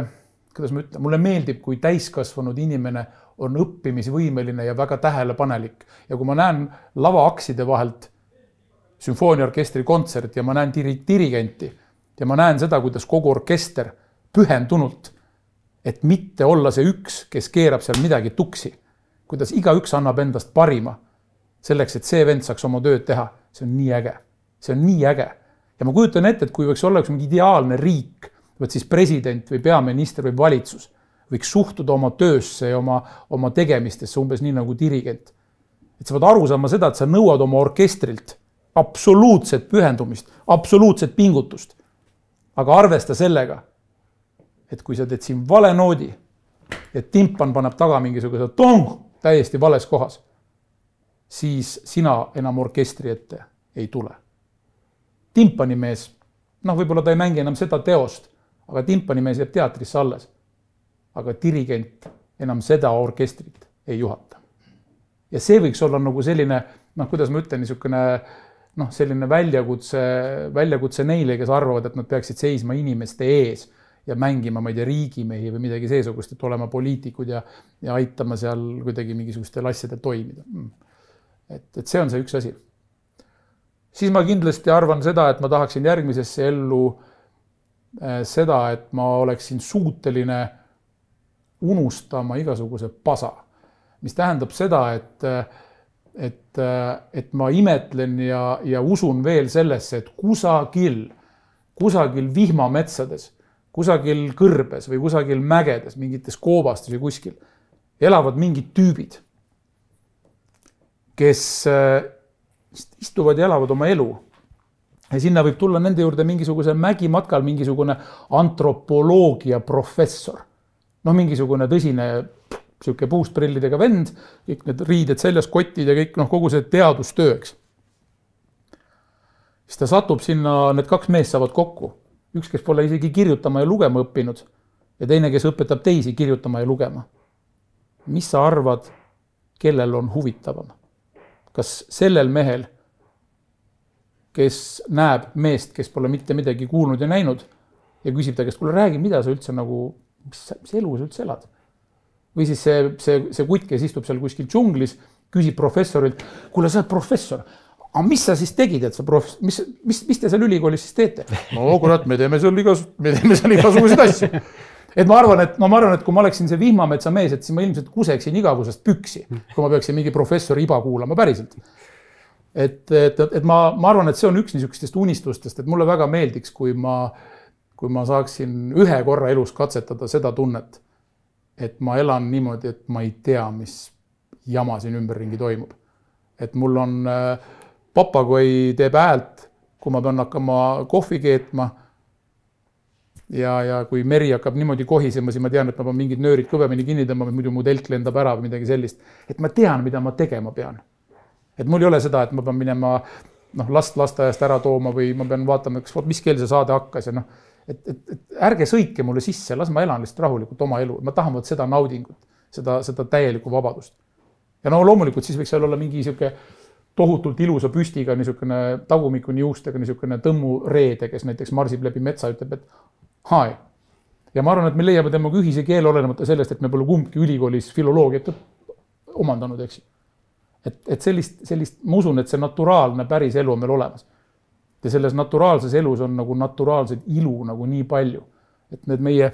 kuidas ma ütlen, mulle meeldib, kui täiskasvanud inimene on õppimisvõimeline ja väga tähelepanelik. Ja kui ma näen lavaakside vahelt sümfooniaorkestri kontsert ja ma näen dirigenti ja ma näen seda, kuidas kogu orkester pühendunult, et mitte olla see üks, kes keerab seal midagi tuksi, kuidas iga üks annab endast parima selleks, et see vend saaks oma tööd teha. See on nii äge. See on nii äge. Ja ma kujutan ette, et kui võiks olla üks mingi ideaalne riik, võt siis president või peaminister või valitsus, võiks suhtuda oma töösse ja oma, oma tegemistesse umbes nii nagu dirigent. Et sa võid aru saama seda, et sa nõuad oma orkestrilt absoluutset pühendumist, absoluutset pingutust. Aga arvesta sellega, et kui sa teed siin vale noodi ja timpan paneb taga mingisuguse tong täiesti vales kohas, siis sina enam orkestri ette ei tule. Timpanimees, noh, võib-olla ta ei mängi enam seda teost, aga timpanimees jääb teatrisse alles. Aga dirigent enam seda orkestrit ei juhata. Ja see võiks olla nagu selline, noh, kuidas ma ütlen, niisugune, noh, selline väljakutse, väljakutse neile, kes arvavad, et nad peaksid seisma inimeste ees ja mängima, ma ei tea, riigimehi või midagi seesugust, et olema poliitikud ja, ja aitama seal kuidagi mingisugustel asjadel toimida. Et, et see on see üks asi. Siis ma kindlasti arvan seda, et ma tahaksin järgmisesse ellu seda, et ma oleksin suuteline unustama igasuguse pasa. Mis tähendab seda, et, et, et ma imetlen ja, ja usun veel sellesse, et kusagil, kusagil vihmametsades, kusagil kõrbes või kusagil mägedes, mingites koobastes või kuskil, elavad mingid tüübid, kes istuvad ja elavad oma elu. Ja sinna võib tulla nende juurde mingisuguse mägimatkal mingisugune antropoloogia professor. No mingisugune tõsine siuke puustprillidega vend, kõik need riided seljas, kotid ja kõik, noh, kogu see teadustööks. Siis ta satub sinna, need kaks meest saavad kokku. Üks, kes pole isegi kirjutama ja lugema õppinud ja teine, kes õpetab teisi kirjutama ja lugema. Mis sa arvad, kellel on huvitavam? Kas sellel mehel, kes näeb meest, kes pole mitte midagi kuulnud ja näinud ja küsib ta, kes kuule räägi, mida sa üldse nagu, mis, mis elu sa üldse elad? Või siis see, see, see kutt, kes istub seal kuskil džunglis, küsib professorilt, kuule, sa oled professor, aga mis sa siis tegid, et sa prof... mis, mis, mis te seal ülikoolis siis teete? No kurat, me teeme seal igas, me teeme seal igasuguseid asju. Et ma arvan, et no ma arvan, et kui ma oleksin see vihmametsa mees, et siis ma ilmselt kuseksin igavusest püksi, kui ma peaksin mingi professori iba kuulama päriselt. Et, et, et ma, ma arvan, et see on üks niisugustest unistustest, et mulle väga meeldiks, kui ma, kui ma saaksin ühe korra elus katsetada seda tunnet, et ma elan niimoodi, et ma ei tea, mis jama siin ümberringi toimub. Et mul on papagoi teeb häält, kui ma pean hakkama kohvi keetma ja, ja kui meri hakkab niimoodi kohisema, siis ma tean, et ma pean mingid nöörid kõvemini kinni tõmbama, muidu mu telk lendab ära või midagi sellist. Et ma tean, mida ma tegema pean. Et mul ei ole seda, et ma pean minema noh, last lasteaiast ära tooma või ma pean vaatama, mis keel see saade hakkas ja noh, et, et, et ärge sõitke mulle sisse, las ma elan lihtsalt rahulikult oma elu. Ma tahan seda naudingut, seda, seda täielikku vabadust. Ja no loomulikult siis võiks seal olla mingi siuke tohutult ilusa püstiga, niisugune tagumikuni juustega, niisugune tõmmureede, kes näiteks marsib läbi metsa, ütleb, et hai. Ja ma arvan, et me leiame temaga ühise keele olenemata sellest, et me pole kumbki ülikoolis filoloogiat omandanud, eks. Et, et sellist, sellist, ma usun, et see naturaalne päris elu on meil olemas. Ja selles naturaalses elus on nagu naturaalsed ilu nagu nii palju. Et need meie,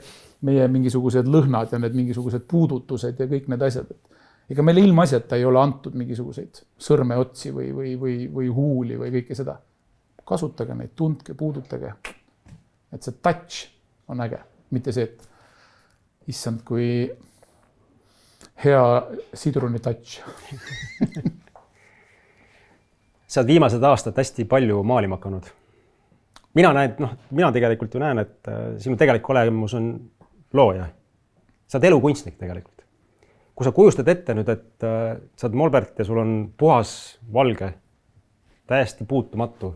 meie mingisugused lõhnad ja need mingisugused puudutused ja kõik need asjad, et ega meile ilmaasjata ei ole antud mingisuguseid sõrmeotsi või, või, või, või huuli või kõike seda. kasutage neid, tundke, puudutage. Et see touch on äge, mitte see, et issand, kui hea sidruni touch. Sa oled viimased aastad hästi palju maalima hakanud. Mina näen, noh, mina tegelikult ju näen, et sinu tegelik olemus on looja. Sa oled elukunstnik tegelikult. Kui sa kujustad ette nüüd, et sa oled Molbert ja sul on puhas valge, täiesti puutumatu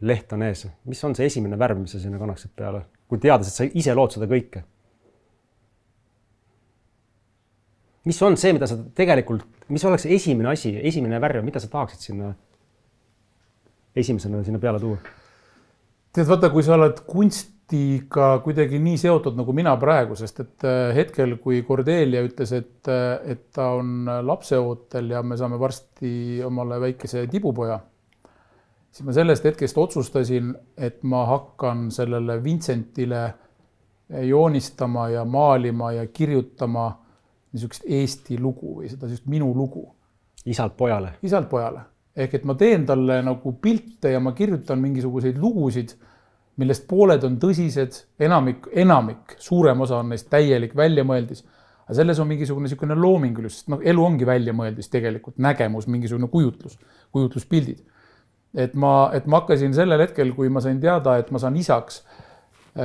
leht on ees. Mis on see esimene värv, mis sa sinna kannaksid peale? Kui teades, et sa ise lood seda kõike. Mis on see, mida sa tegelikult, mis oleks esimene asi, esimene värv, mida sa tahaksid sinna esimesena sinna peale tuua? Tead, vaata, kui sa oled kunstiga kuidagi nii seotud nagu mina praegu, sest et hetkel, kui Cordelia ütles, et, et ta on lapseootel ja me saame varsti omale väikese tibupoja, siis ma sellest hetkest otsustasin, et ma hakkan sellele Vincentile joonistama ja maalima ja kirjutama niisugust Eesti lugu või seda just minu lugu. Isalt pojale. Isalt pojale. Ehk et ma teen talle nagu pilte ja ma kirjutan mingisuguseid lugusid, millest pooled on tõsised, enamik, enamik, suurem osa on neist täielik väljamõeldis. Aga selles on mingisugune niisugune loomingulus, sest no, elu ongi väljamõeldis tegelikult, nägemus, mingisugune kujutlus, kujutluspildid. Et ma, et ma hakkasin sellel hetkel, kui ma sain teada, et ma saan isaks,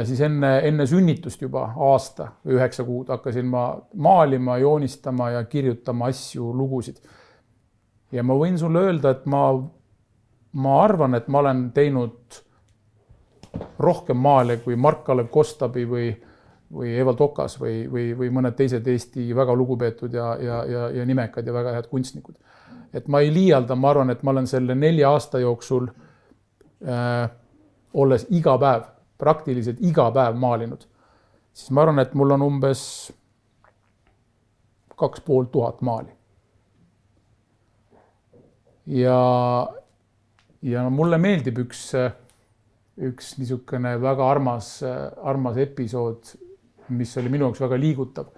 siis enne, enne sünnitust juba aasta või üheksa kuud hakkasin ma maalima, joonistama ja kirjutama asju, lugusid. Ja ma võin sulle öelda, et ma, ma arvan, et ma olen teinud rohkem maale kui Mark-Kalev Kostabi või, või Evald Okas või, või, või mõned teised Eesti väga lugupeetud ja, ja, ja, ja nimekad ja väga head kunstnikud. Et ma ei liialda, ma arvan, et ma olen selle nelja aasta jooksul äh, olles iga päev, praktiliselt iga päev maalinud, siis ma arvan, et mul on umbes kaks pool tuhat maali. Ja, ja mulle meeldib üks, üks niisugune väga armas, armas episood, mis oli minu jaoks väga liigutav.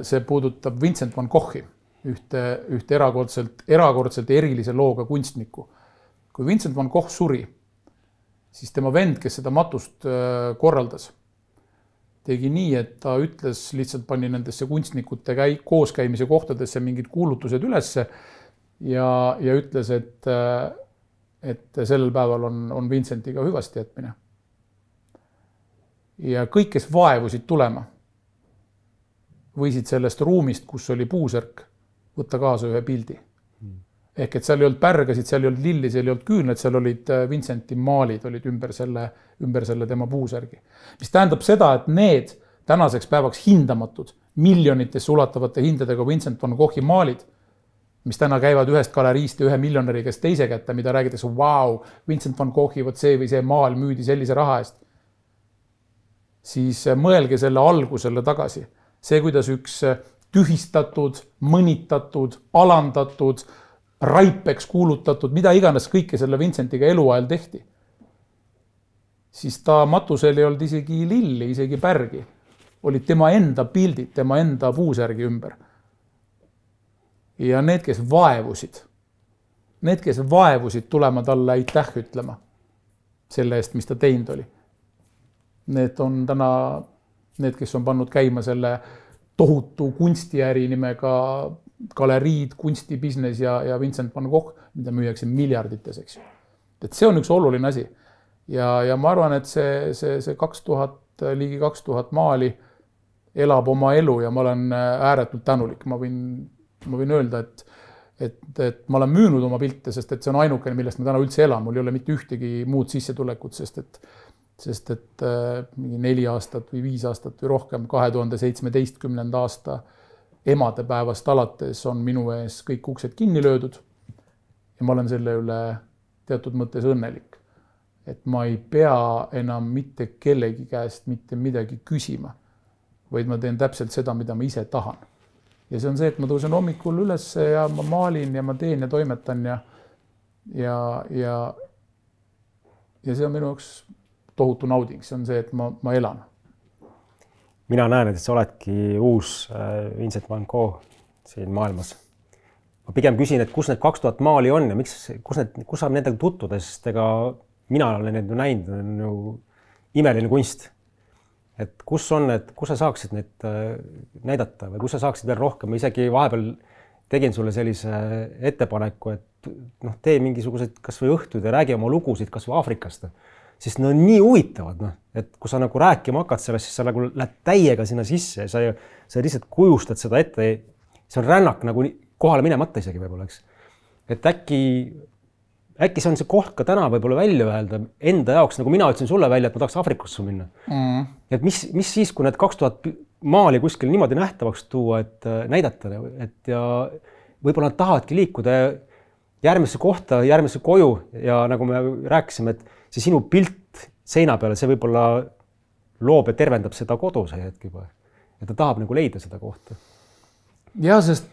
See puudutab Vincent van Goghi, ühte, ühte erakordselt, erakordselt erilise looga kunstnikku. Kui Vincent van Gogh suri, siis tema vend, kes seda matust korraldas, tegi nii, et ta ütles, lihtsalt pani nendesse kunstnikute käi, kooskäimise kohtadesse mingid kuulutused ülesse ja, ja ütles, et, et sellel päeval on, on Vincentiga hüvasti jätmine. Ja kõik, kes vaevusid tulema, võisid sellest ruumist, kus oli puusärk, võtta kaasa ühe pildi. Ehk et seal ei olnud pärgasid, seal ei olnud lilli, seal ei olnud küüned, seal olid Vincenti maalid olid ümber selle, ümber selle tema puusärgi. Mis tähendab seda, et need tänaseks päevaks hindamatud, miljonitesse ulatavate hindadega Vincent van Goghi maalid, mis täna käivad ühest galeriist ja ühe miljonäri käest teise kätte, mida räägitakse, wow, Vincent van Goghi, võt see või see maal müüdi sellise raha eest. Siis mõelge selle algusele tagasi. See, kuidas üks tühistatud, mõnitatud, alandatud, raipeks kuulutatud, mida iganes kõike selle Vincentiga eluajal tehti. Siis ta matusel ei olnud isegi lilli, isegi pärgi. Olid tema enda pildid, tema enda puusärgi ümber. Ja need, kes vaevusid, need, kes vaevusid tulema talle aitäh ütlema selle eest, mis ta teinud oli. Need on täna need, kes on pannud käima selle tohutu kunstiäri nimega galeriid, kunstibisnes ja, ja Vincent van Gogh, mida müüakse miljardites, eks ju. Et see on üks oluline asi. Ja, ja ma arvan, et see, see, see kaks tuhat, ligi kaks tuhat maali elab oma elu ja ma olen ääretult tänulik. Ma võin, ma võin öelda, et, et, et ma olen müünud oma pilte, sest et see on ainukene, millest ma täna üldse elan. Mul ei ole mitte ühtegi muud sissetulekut, sest et, sest et äh, neli aastat või viis aastat või rohkem kahe tuhande seitsmeteistkümnenda aasta emadepäevast alates on minu ees kõik uksed kinni löödud ja ma olen selle üle teatud mõttes õnnelik. Et ma ei pea enam mitte kellegi käest mitte midagi küsima, vaid ma teen täpselt seda, mida ma ise tahan. Ja see on see, et ma tõusen hommikul üles ja ma maalin ja ma teen ja toimetan ja, ja, ja, ja see on minu jaoks tohutu nauding. See on see, et ma, ma elan. Mina näen, et sa oledki uus Vincent van Gogh siin maailmas. ma pigem küsin, et kus need kaks tuhat maali on ja miks, kus, need, kus saab nendega tutvuda, sest ega mina olen need näinud, on ju imeline kunst. Et kus on need, kus sa saaksid neid näidata või kus sa saaksid veel rohkem, ma isegi vahepeal tegin sulle sellise ettepaneku, et noh, tee mingisugused kas või õhtud ja räägi oma lugusid kas või Aafrikast, sest need on nii huvitavad, noh, et kui sa nagu rääkima hakkad sellest, siis sa nagu lähed täiega sinna sisse ja sa, sa lihtsalt kujustad seda ette. See on rännak nagu kohale minemata isegi võib-olla, eks. Et äkki, äkki see on see koht ka täna võib-olla välja öelda enda jaoks, nagu mina ütlesin sulle välja, et ma tahaks Aafrikasse minna. Mm. Et mis, mis siis, kui need kaks tuhat maali kuskil niimoodi nähtavaks tuua, et näidata, et ja võib-olla nad tahavadki liikuda järgmisse kohta, järgmisse koju ja nagu me rääkisime, et see sinu pilt seina peale, see võib-olla loob ja tervendab seda kodu see hetk juba. Ja ta tahab nagu leida seda kohta. Ja, sest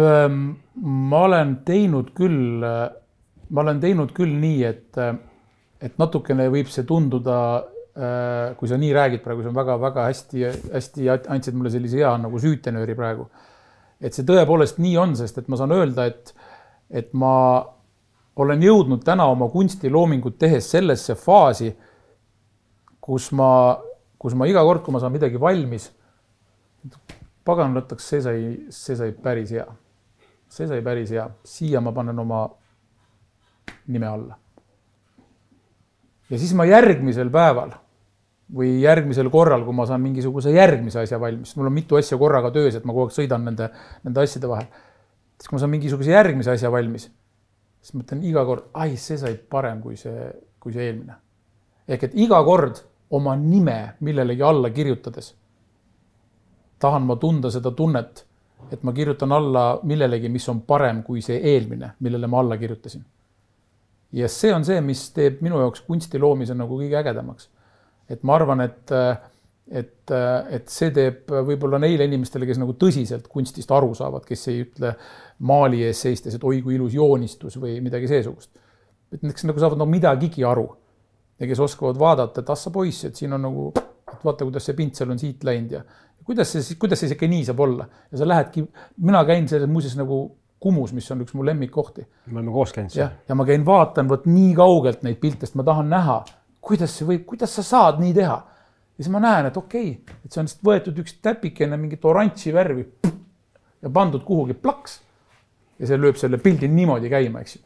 ähm, ma olen teinud küll, ma olen teinud küll nii, et, et natukene võib see tunduda, äh, kui sa nii räägid praegu, see on väga, väga hästi, hästi andsid mulle sellise hea nagu süütenööri praegu. Et see tõepoolest nii on, sest et ma saan öelda, et, et ma olen jõudnud täna oma kunstiloomingut tehes sellesse faasi, kus ma, kus ma iga kord, kui ma saan midagi valmis, pagan võtaks, see sai, see sai päris hea. See sai päris hea. Siia ma panen oma nime alla. Ja siis ma järgmisel päeval või järgmisel korral, kui ma saan mingisuguse järgmise asja valmis, mul on mitu asja korraga töös, et ma kogu aeg sõidan nende, nende asjade vahel. Siis kui ma saan mingisuguse järgmise asja valmis, siis mõtlen iga kord, ai, see sai parem kui see, kui see eelmine. Ehk et iga kord oma nime millelegi alla kirjutades tahan ma tunda seda tunnet, et ma kirjutan alla millelegi, mis on parem kui see eelmine, millele ma alla kirjutasin. Ja see on see, mis teeb minu jaoks kunstiloomise nagu kõige ägedamaks. Et ma arvan, et, et, et see teeb võib-olla neile inimestele, kes nagu tõsiselt kunstist aru saavad, kes ei ütle maali ees seistes, et oi kui ilus joonistus või midagi seesugust. Et need, kes nagu saavad nagu midagigi aru ja kes oskavad vaadata, et assa poiss, et siin on nagu, et vaata, kuidas see pintsel on siit läinud ja kuidas see, kuidas see ikka nii saab olla. Ja sa lähedki, mina käin selles muuses nagu Kumus, mis on üks mu lemmikkohti. Me oleme koos käinud. Ja, ja ma käin vaatan võt nii kaugelt neid piltest, ma tahan näha, kuidas see võib, kuidas sa saad nii teha. Ja siis ma näen, et okei, okay, et see on võetud üks täpikene mingit oranži värvi ja pandud kuhugi plaks ja see lööb selle pildi niimoodi käima, eks ju.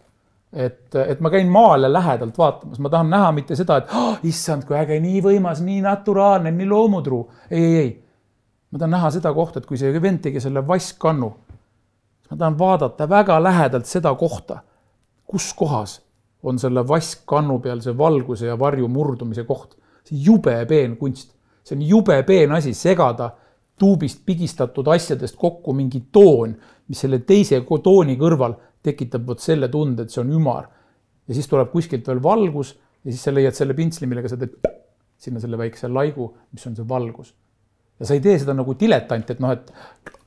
Et, et ma käin maale lähedalt vaatamas, ma tahan näha mitte seda, et oh, issand, kui äge, nii võimas, nii naturaalne, nii loomutruu. Ei, ei, ei. Ma tahan näha seda kohta, et kui see vend tegi selle vaskkannu, ma tahan vaadata väga lähedalt seda kohta, kus kohas on selle vaskkannu peal see valguse ja varju murdumise koht. See jube peen kunst. See on jube peen asi segada tuubist pigistatud asjadest kokku mingi toon, mis selle teise tooni kõrval tekitab võt selle tunde, et see on ümar. Ja siis tuleb kuskilt veel valgus ja siis sa leiad selle pintsli, millega sa teed sinna selle väikse laigu, mis on see valgus. Ja sa ei tee seda nagu diletant, et noh, et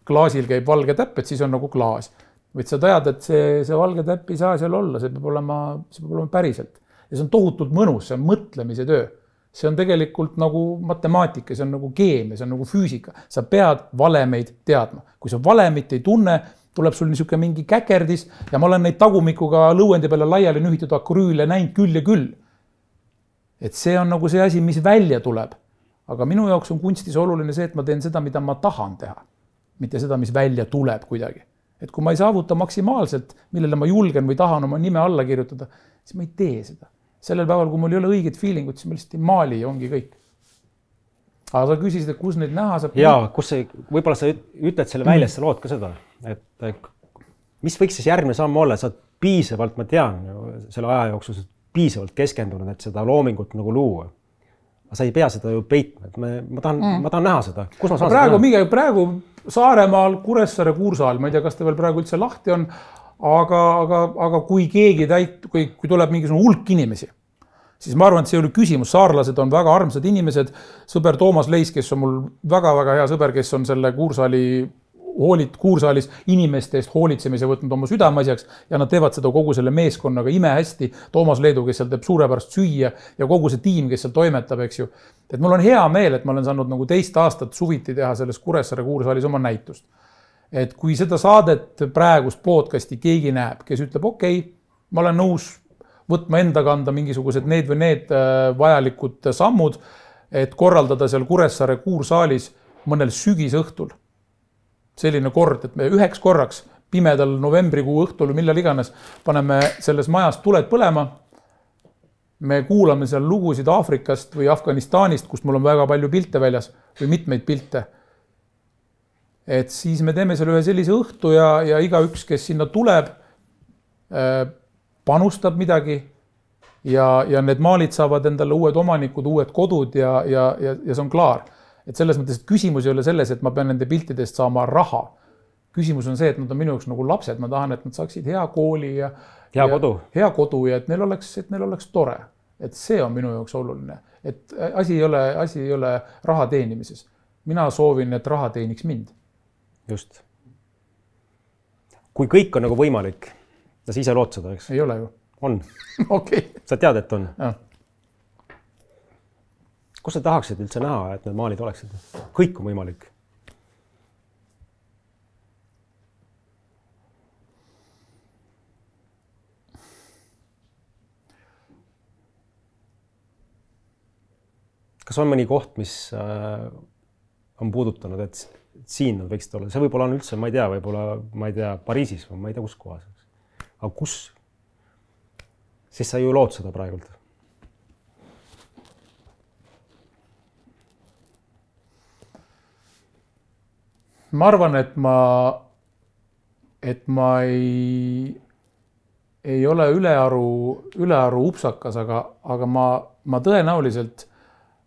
klaasil käib valge täpp, et siis on nagu klaas. Võid sa tajad, et see, see valge täpp ei saa seal olla, see peab olema, see peab olema päriselt. Ja see on tohutult mõnus, see on mõtlemise töö. See on tegelikult nagu matemaatika, see on nagu keemia, see on nagu füüsika. Sa pead valemeid teadma. Kui sa valemit ei tunne, tuleb sul niisugune mingi käkerdis ja ma olen neid tagumikuga lõuendi peale laiali nühitud akrüüle näinud küll ja küll. Et see on nagu see asi, mis välja tuleb. Aga minu jaoks on kunstis oluline see, et ma teen seda, mida ma tahan teha. Mitte seda, mis välja tuleb kuidagi. Et kui ma ei saavuta maksimaalselt, millele ma julgen või tahan oma nime alla kirjutada, siis ma ei tee seda. Sellel päeval, kui mul ei ole õiged feelingut, siis ma lihtsalt ei maali ja ongi kõik. Aga sa küsisid, et kus neid näha saab? Jaa, kus see, võib-olla sa ütled selle välja, sa lood ka seda, et mis võiks siis järgmine samm olla, sa piisavalt, ma tean, selle aja jooksul piisavalt keskendunud, et seda loomingut nagu luua. Sa ei pea seda ju peitma, et ma, ma, tahan, mm. ma tahan näha seda. Kus ma saan praegu, seda näha? Praegu Saaremaal, Kuressaare Kuursaal, ma ei tea, kas ta veel praegu üldse lahti on, aga, aga, aga kui keegi täit, kui, kui tuleb mingisugune hulk inimesi, siis ma arvan, et see oli küsimus. Saarlased on väga armsad inimesed. Sõber Toomas Leis, kes on mul väga-väga hea sõber, kes on selle Kuursaali hoolit Kuursaalis inimeste eest hoolitsemise võtnud oma südameasjaks ja nad teevad seda kogu selle meeskonnaga ime hästi. Toomas Leedu, kes seal teeb suurepärast süüa ja kogu see tiim, kes seal toimetab, eks ju. Et mul on hea meel, et ma olen saanud nagu teist aastat suviti teha selles Kuressaare Kuursaalis oma näitust. et kui seda saadet praegust podcasti keegi näeb, kes ütleb, okei, okay, ma olen nõus võtma enda kanda mingisugused need või need vajalikud sammud, et korraldada seal Kuressaare kuursaalis mõnel sügisõhtul selline kord, et me üheks korraks pimedal novembrikuu õhtul või millal iganes paneme selles majas tuled põlema. Me kuulame seal lugusid Aafrikast või Afganistanist, kust mul on väga palju pilte väljas või mitmeid pilte. Et siis me teeme seal ühe sellise õhtu ja, ja iga üks, kes sinna tuleb, panustab midagi ja, ja need maalid saavad endale uued omanikud, uued kodud ja, ja, ja, ja see on klaar. Et selles mõttes, et küsimus ei ole selles, et ma pean nende piltidest saama raha. Küsimus on see, et nad on minu jaoks nagu lapsed, ma tahan, et nad saaksid hea kooli ja hea ja, kodu, hea kodu ja et neil oleks, et neil oleks tore. Et see on minu jaoks oluline. Et asi ei ole, asi ei ole raha teenimises. Mina soovin, et raha teeniks mind. Just. Kui kõik on nagu võimalik, ja sa ise lood seda, eks? Ei ole ju. On. Okay. Sa tead, et on? Ja. Kus sa tahaksid üldse näha, et need maalid oleksid? Kõik on võimalik. Kas on mõni koht, mis on puudutanud, et siin nad võiksid olla? See võib-olla on üldse, ma ei tea, võib-olla, ma ei tea, Pariisis või ma ei tea, kus kohas. Aga kus? Siis sa ju lood seda praegult. Ma arvan, et ma, et ma ei, ei ole ülearu, ülearu upsakas, aga, aga ma, ma tõenäoliselt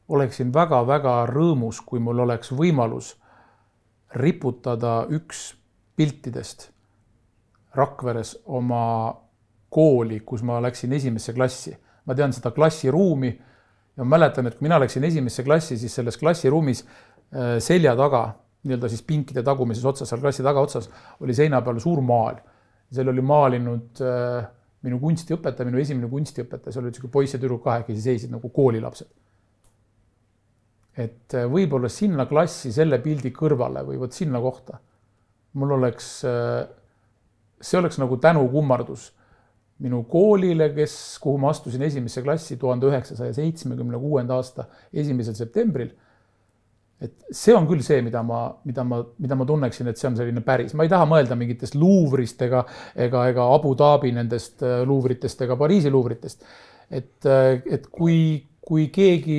oleksin väga-väga rõõmus, kui mul oleks võimalus riputada üks piltidest Rakveres oma kooli, kus ma läksin esimesse klassi. Ma tean seda klassiruumi ja ma mäletan, et kui mina läksin esimesse klassi, siis selles klassiruumis selja taga, nii-öelda siis pinkide tagumises otsas, seal klassi taga otsas, oli seina peal suur maal. Seal oli maalinud minu kunstiõpetaja, minu esimene kunstiõpetaja, seal oli selline poiss ja tüdruk kahekesi seisid nagu koolilapsed. Et võib-olla sinna klassi selle pildi kõrvale või võt sinna kohta. Mul oleks, see oleks nagu tänukummardus minu koolile, kes, kuhu ma astusin esimesse klassi tuhande üheksasaja seitsmekümne kuuenda aasta esimesel septembril. Et see on küll see, mida ma, mida ma, mida ma tunneksin, et see on selline päris. Ma ei taha mõelda mingitest Louvrist ega, ega, ega Abu Dhabi nendest Louvritest ega Pariisi Louvritest. Et, et kui, kui keegi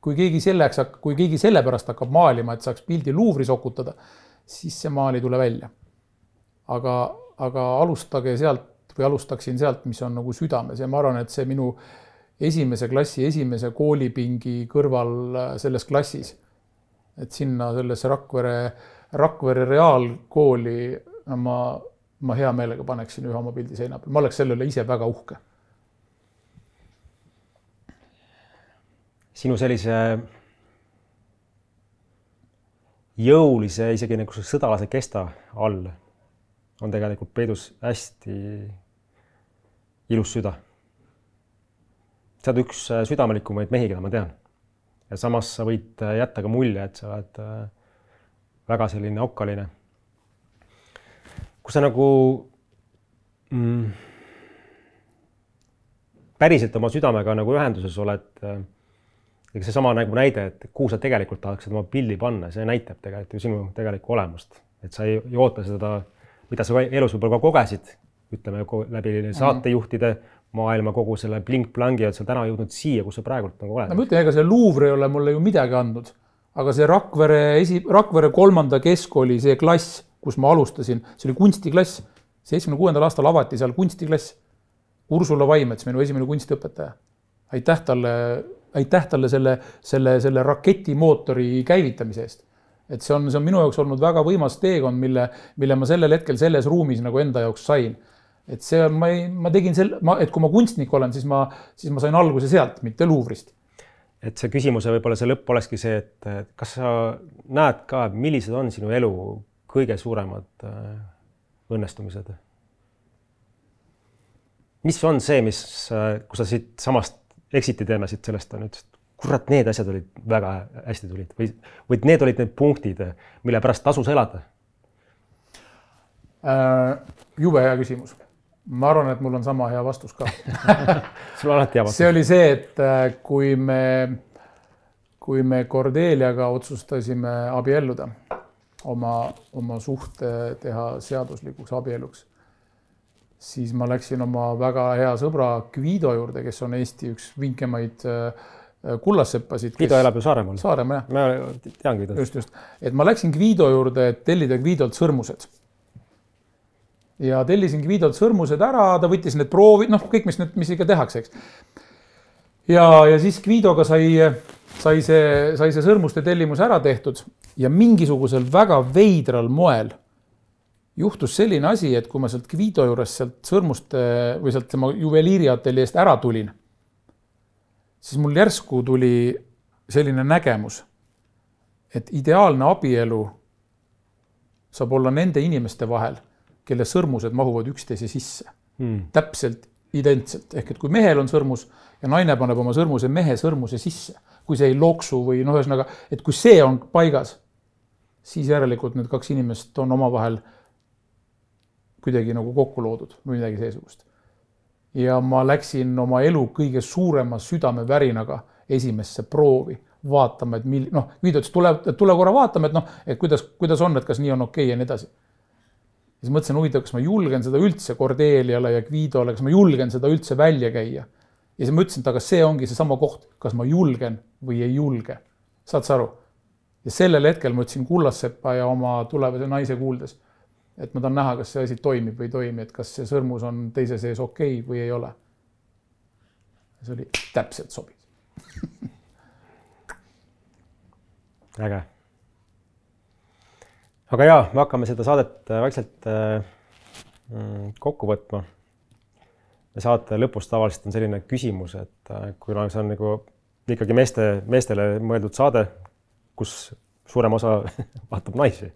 Kui keegi, selleks, kui keegi selle pärast hakkab maalima, et saaks pildi Louvris okutada, siis see maal ei tule välja. Aga, aga alustage sealt või alustaksin sealt, mis on nagu südames. Ja ma arvan, et see minu esimese klassi, esimese koolipingi kõrval selles klassis, et sinna sellesse Rakvere, Rakvere reaalkooli ma, ma hea meelega paneksin ühe oma pildi seina peal. Ma oleks sellele ise väga uhke. Sinu sellise jõulise, isegi nagu sõdalase kesta all on tegelikult peidus hästi ilus süda. Sa oled üks südamelikumaid mehi, keda ma tean. Ja samas sa võid jätta ka mulje, et sa oled väga selline okkaline. Kui sa nagu mm, päriselt oma südamega nagu ühenduses oled, ega see sama nagu näide, et kuhu sa tegelikult tahaksid oma pilli panna, see näitab tegelikult ju sinu tegelikku olemust. Et sa ei, ei oota seda, mida sa elus võib-olla kogesid, ütleme läbi saatejuhtide maailma kogu selle blink-plangi, et sa täna jõudnud siia, kus sa praegult nagu oled. No, ma ütlen, ega see Louvre ei ole mulle ju midagi andnud, aga see Rakvere, esi, Rakvere kolmanda keskkooli, see klass, kus ma alustasin, see oli kunstiklass. seitsmekümne kuuendal aastal avati seal kunstiklass. Ursula Vaimets, minu esimene kunstiõpetaja. Aitäh talle aitäh talle selle, selle, selle raketimootori käivitamise eest. Et see on, see on minu jaoks olnud väga võimas teekond, mille, mille ma sellel hetkel selles ruumis nagu enda jaoks sain. Et see on, ma, ei, ma tegin selle, ma, et kui ma kunstnik olen, siis ma, siis ma sain alguse sealt, mitte Louvrist. Et see küsimuse võib-olla see lõpp olekski see, et kas sa näed ka, millised on sinu elu kõige suuremad õnnestumised? Mis on see, mis, kui sa siit samast eksiti teeme siit sellest on, et kurat, need asjad olid väga hästi tulid või, või need olid need punktid, mille pärast tasus elada? Jube hea küsimus. Ma arvan, et mul on sama hea vastus ka. Sul on alati hea vastus. See oli see, et kui me, kui me Cordeliaga otsustasime abielluda, oma, oma suhte teha seaduslikuks abieluks, siis ma läksin oma väga hea sõbra Guido juurde, kes on Eesti üks vinkemaid kullaseppasid. Guido elab ju Saaremaal. Saaremaal, jah. Ma tean Guido. Just, just. Et ma läksin Guido juurde, et tellida Guidolt sõrmused. Ja tellisin Guidolt sõrmused ära, ta võttis need proovid, noh, kõik, mis, mis ikka tehakse, eks. Ja, ja siis Guidoga sai, sai, see, sai see sõrmuste tellimus ära tehtud ja mingisugusel väga veidral moel juhtus selline asi, et kui ma sealt Guido juures sealt sõrmuste või sealt tema juveliiriatelli eest ära tulin, siis mul järsku tuli selline nägemus, et ideaalne abielu saab olla nende inimeste vahel, kelle sõrmused mahuvad üksteise sisse. Hmm. Täpselt identselt. Ehk et kui mehel on sõrmus ja naine paneb oma sõrmuse mehe sõrmuse sisse, kui see ei loksu või noh, ühesõnaga, et kui see on paigas, siis järelikult need kaks inimest on omavahel kuidagi nagu kokku loodud või midagi seesugust. Ja ma läksin oma elu kõige suurema südamevärinaga esimesse proovi vaatama, et mil, noh, Guido ütles, tule, tule korra vaatama, et noh, et kuidas, kuidas on, et kas nii on okei ja nii edasi. Ja siis mõtlesin, huvitav, kas ma julgen seda üldse Cordeliale ja Guidole, kas ma julgen seda üldse välja käia. Ja siis ma ütlesin, et aga see ongi see sama koht, kas ma julgen või ei julge. Saad sa aru? Ja sellel hetkel ma ütlesin Kullassepa ja oma tulevase naise kuuldes, et ma tahan näha, kas see asi toimib või ei toimi, et kas see sõrmus on teise sees okei või ei ole. Ja see oli täpselt sobis. Äge. Aga jaa, me hakkame seda saadet vaikselt kokku võtma. Ja saate lõpus tavaliselt on selline küsimus, et kui see on nagu ikkagi meeste, meestele mõeldud saade, kus suurem osa vaatab naisi.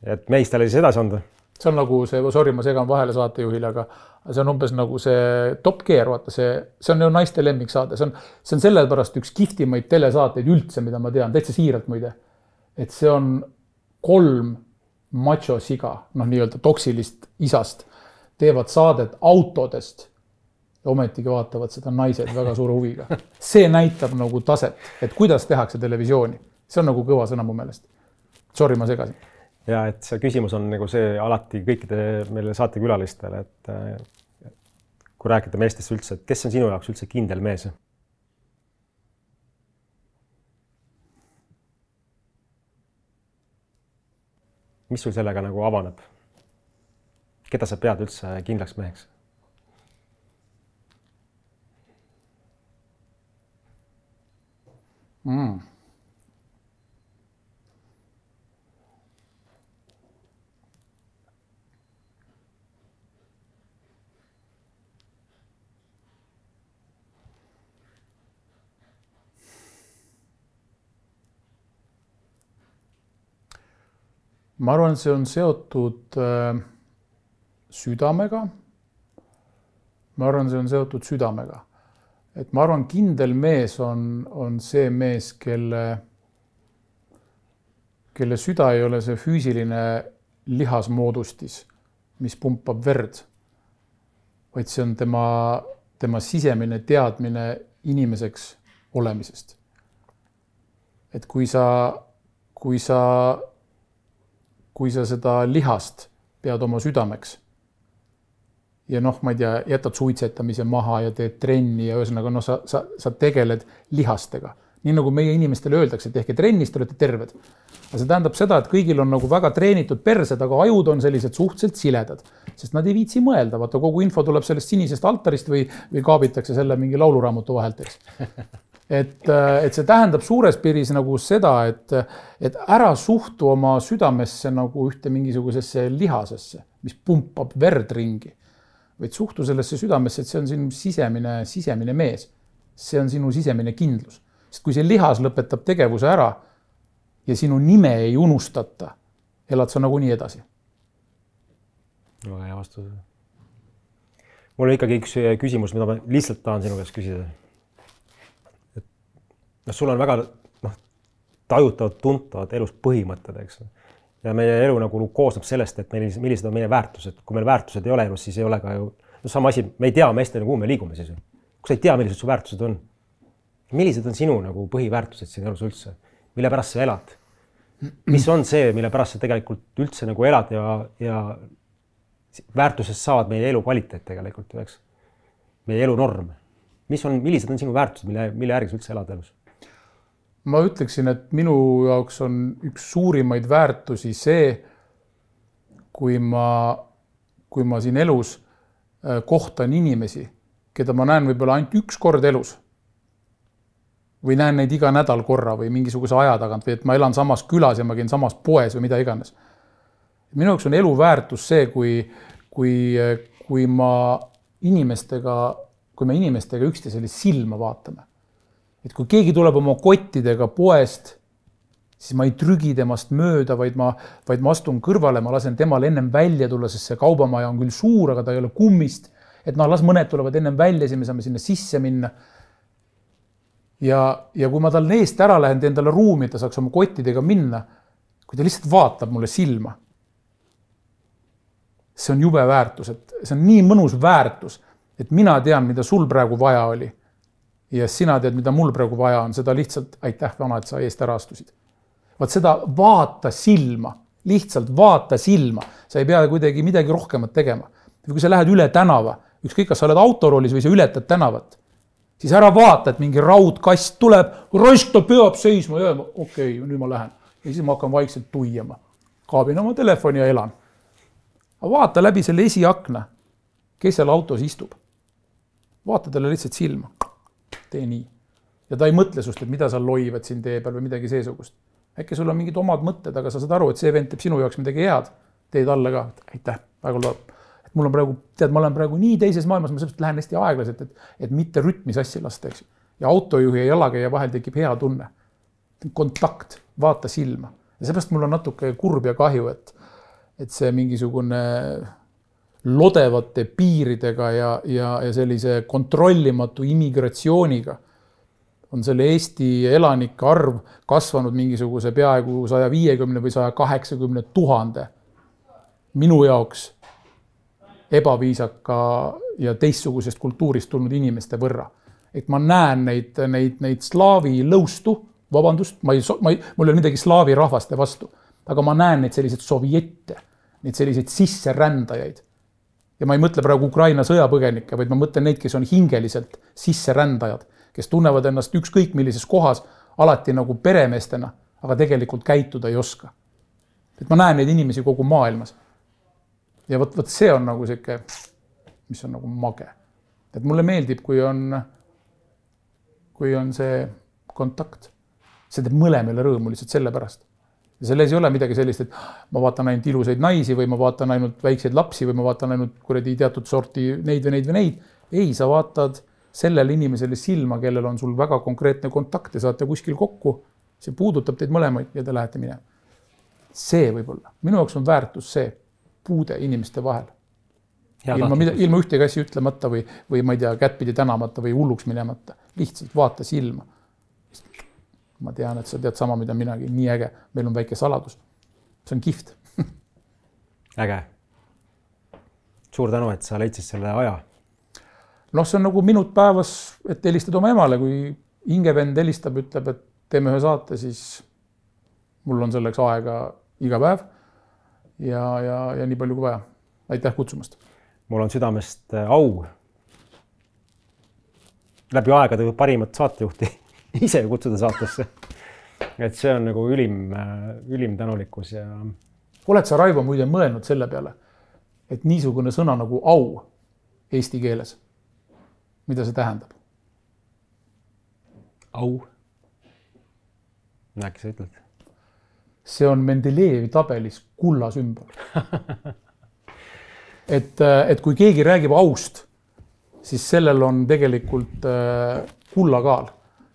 Et meistele siis edasi anda. See on nagu see, sorry, ma segan vahele saatejuhile, aga see on umbes nagu see Top Gear, vaata see, see on ju naiste lemmik saade. See on, see on sellepärast üks kihtimaid telesaateid üldse, mida ma tean, täitsa siiralt muide. Et see on kolm macho siga, noh nii-öelda toksilist isast, teevad saadet autodest ja ometigi vaatavad seda naised väga suure huviga. See näitab nagu taset, et kuidas tehakse televisiooni. See on nagu kõva sõna mu meelest. Sorry, ma segasin. Ja et see küsimus on nagu see alati kõikide meile saatekülalistele, et kui rääkida meestest üldse, et kes on sinu jaoks üldse kindel mees? Mis sul sellega nagu avaneb? Keda sa pead üldse kindlaks meheks? Mm. Ma arvan, et see on seotud äh, südamega. Ma arvan, see on seotud südamega. Et ma arvan, kindel mees on, on see mees, kelle, kelle süda ei ole see füüsiline lihasmoodustis, mis pumpab verd, vaid see on tema, tema sisemine teadmine inimeseks olemisest. Et kui sa, kui sa kui sa seda lihast pead oma südameks ja noh, ma ei tea, jätad suitsetamise maha ja teed trenni ja ühesõnaga, noh, sa, sa, sa tegeled lihastega. Nii nagu meie inimestele öeldakse, et tehke trennist, te olete terved. Aga see tähendab seda, et kõigil on nagu väga treenitud persed, aga ajud on sellised suhteliselt siledad, sest nad ei viitsi mõelda. Vaata, kogu info tuleb sellest sinisest altarist või, või kaabitakse selle mingi lauluraamatu vahelt, eks. Et, et see tähendab suures piiris nagu seda, et, et ära suhtu oma südamesse nagu ühte mingisugusesse lihasesse, mis pumpab verd ringi. Vaid suhtu sellesse südamesse, et see on sinu sisemine, sisemine mees. See on sinu sisemine kindlus. Sest kui see lihas lõpetab tegevuse ära ja sinu nime ei unustata, elad sa nagu nii edasi. No, hea vastus. Mul on ikkagi üks küsimus, mida ma lihtsalt tahan sinu käest küsida. No, sul on väga noh, tajutavad, tuntavad elus põhimõtted, eks. ja meie elu nagu koosneb sellest, et meil, millised on meie väärtused. Kui meil väärtused ei ole elus, siis ei ole ka ju no sama asi, me ei tea meestena, kuhu me liigume siis. Kui sa ei tea, millised su väärtused on, millised on sinu nagu põhiväärtused siin elus üldse, mille pärast sa elad? Mis on see, mille pärast sa tegelikult üldse nagu elad ja, ja väärtusest saavad meie elu kvaliteet tegelikult, eks? Meie elu norm. Mis on, millised on sinu väärtused, mille, mille järgi sa üldse elad elus? Ma ütleksin, et minu jaoks on üks suurimaid väärtusi see, kui ma, kui ma siin elus kohtan inimesi, keda ma näen võib-olla ainult üks kord elus või näen neid iga nädal korra või mingisuguse aja tagant või et ma elan samas külas ja ma käin samas poes või mida iganes. Minu jaoks on elu väärtus see, kui, kui, kui ma inimestega, kui me inimestega üksteisele silma vaatame. Et kui keegi tuleb oma kottidega poest, siis ma ei trügi temast mööda, vaid ma, vaid ma astun kõrvale, ma lasen temal ennem välja tulla, sest see kaubamaja on küll suur, aga ta ei ole kummist. Et noh, las mõned tulevad ennem välja, siis me saame sinna sisse minna. Ja, ja kui ma tal eest ära lähen, teen talle ruumi, ta saaks oma kottidega minna, kui ta lihtsalt vaatab mulle silma. See on jube väärtus, et see on nii mõnus väärtus, et mina tean, mida sul praegu vaja oli. Ja sina tead, mida mul praegu vaja on, seda lihtsalt aitäh vana, et sa eest ära astusid. Vaat seda vaata silma, lihtsalt vaata silma. Sa ei pea kuidagi midagi rohkemat tegema. Kui sa lähed üle tänava, ükskõik kas sa oled autoroolis või sa ületad tänavat, siis ära vaata, et mingi raudkast tuleb, raisk ta peab seisma ja okei, okay, nüüd ma lähen. Ja siis ma hakkan vaikselt tuiama. Kaabin oma telefoni ja elan. Aga vaata läbi selle esiakna, kes seal autos istub. Vaata talle lihtsalt silma. Tee nii. Ja ta ei mõtle sust, et mida sa loivad siin tee peal või midagi seesugust. Äkki sul on mingid omad mõtted, aga sa saad aru, et see vend teeb sinu jaoks midagi head. Teed alla ka. Aitäh, väga loeb. Et mul on praegu, tead, ma olen praegu nii teises maailmas, ma sellepärast lähen hästi aeglaselt, et, et mitte rütmi sassi lasta, eks. Ja autojuhi ja jalakäija vahel tekib hea tunne. Kontakt, vaata silma. Ja seepärast mul on natuke kurb ja kahju, et, et see mingisugune lodevate piiridega ja, ja, ja sellise kontrollimatu immigratsiooniga on selle Eesti elanike arv kasvanud mingisuguse peaaegu saja viiekümne või saja kaheksakümne tuhande. Minu jaoks ebaviisaka ja teistsugusest kultuurist tulnud inimeste võrra. Et ma näen neid, neid, neid slaavi lõustu, vabandust, ma ei, ma ei, mul ei ole midagi slaavi rahvaste vastu, aga ma näen neid selliseid sovjette, neid selliseid sisserändajaid. Ja ma ei mõtle praegu Ukraina sõjapõgenikke, vaid ma mõtlen neid, kes on hingeliselt sisserändajad, kes tunnevad ennast ükskõik millises kohas alati nagu peremeestena, aga tegelikult käituda ei oska. Et ma näen neid inimesi kogu maailmas. Ja võt, võt see on nagu siuke, mis on nagu mage. Et mulle meeldib, kui on, kui on see kontakt. See teeb mõlemile rõõmu lihtsalt selle pärast. Ja selles ei ole midagi sellist, et ma vaatan ainult ilusaid naisi või ma vaatan ainult väikseid lapsi või ma vaatan ainult kuradi teatud sorti neid või neid või neid. Ei, sa vaatad sellele inimesele silma, kellel on sul väga konkreetne kontakt ja saate kuskil kokku. See puudutab teid mõlemaid ja te lähete minema. See võib-olla. Minu jaoks on väärtus see puude inimeste vahel. Ilma, mida, ilma ühtegi asja ütlemata või, või ma ei tea, kättpidi tänamata või hulluks minemata. Lihtsalt vaata silma. Ma tean, et sa tead sama, mida minagi. Nii äge. Meil on väike saladus. See on kift. Äge. Suur tänu, et sa leidsid selle aja. Noh, see on nagu minut päevas, et helistad oma emale. Kui hingevend helistab, ütleb, et teeme ühe saate, siis mul on selleks aega iga päev ja, ja, ja nii palju kui vaja. Aitäh kutsumast. Mul on südamest au läbi aegade parimat saatejuhti ise kutsuda saatesse. Et see on nagu ülim, ülim tänulikkus ja... Oled sa, Raivo, muide mõelnud selle peale, et niisugune sõna nagu au eesti keeles, mida see tähendab? Au. Äkki sa ütled? See on Mendelejevi tabelis kulla sümbol. et, et kui keegi räägib aust, siis sellel on tegelikult kulla kaal.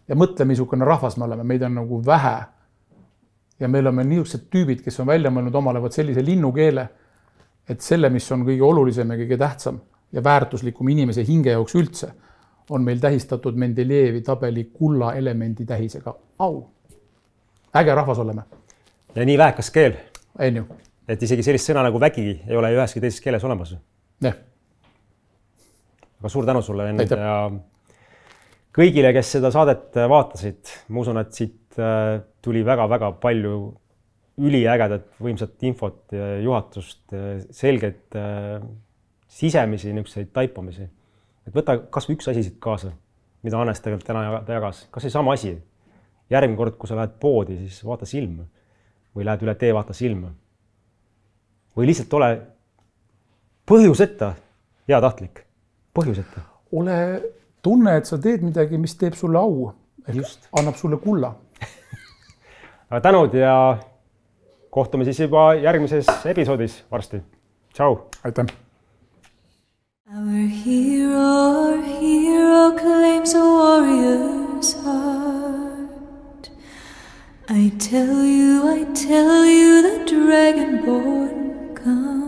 Ja mõtle, missugune rahvas me oleme, meid on nagu vähe. Ja meil on niisugused tüübid, kes on välja mõelnud omale võt sellise linnukeele, et selle, mis on kõige olulisem ja kõige tähtsam ja väärtuslikum inimese hinge jaoks üldse, on meil tähistatud Mendelejevi tabeli kulla elemendi tähisega au. Äge rahvas oleme. Ja nii väekas keel. Enju. Et isegi sellist sõna nagu vägi ei ole üheski teises keeles olemas. Jah. Aga suur tänu sulle enne ja kõigile, kes seda saadet vaatasid, ma usun, et siit tuli väga-väga palju üliägedat võimsat infot ja juhatust, selgeid sisemisi niisuguseid taipamisi. Et võta kas või üks asi siit kaasa, mida Hannes tegelikult täna jagas. Kas ei sama asi? Järgmine kord, kui sa lähed poodi, siis vaata silma. Või lähed üle tee, vaata silma. Või lihtsalt ole põhjuseta hea tahtlik. Põhjuseta. Ole tunne, et sa teed midagi, mis teeb sulle au. Just. Annab sulle kulla. Aga tänud ja kohtume siis juba järgmises episoodis varsti. Tšau! Aitäh! Our hero, our hero claims a warrior's heart. I tell you, I tell you the dragonborn comes.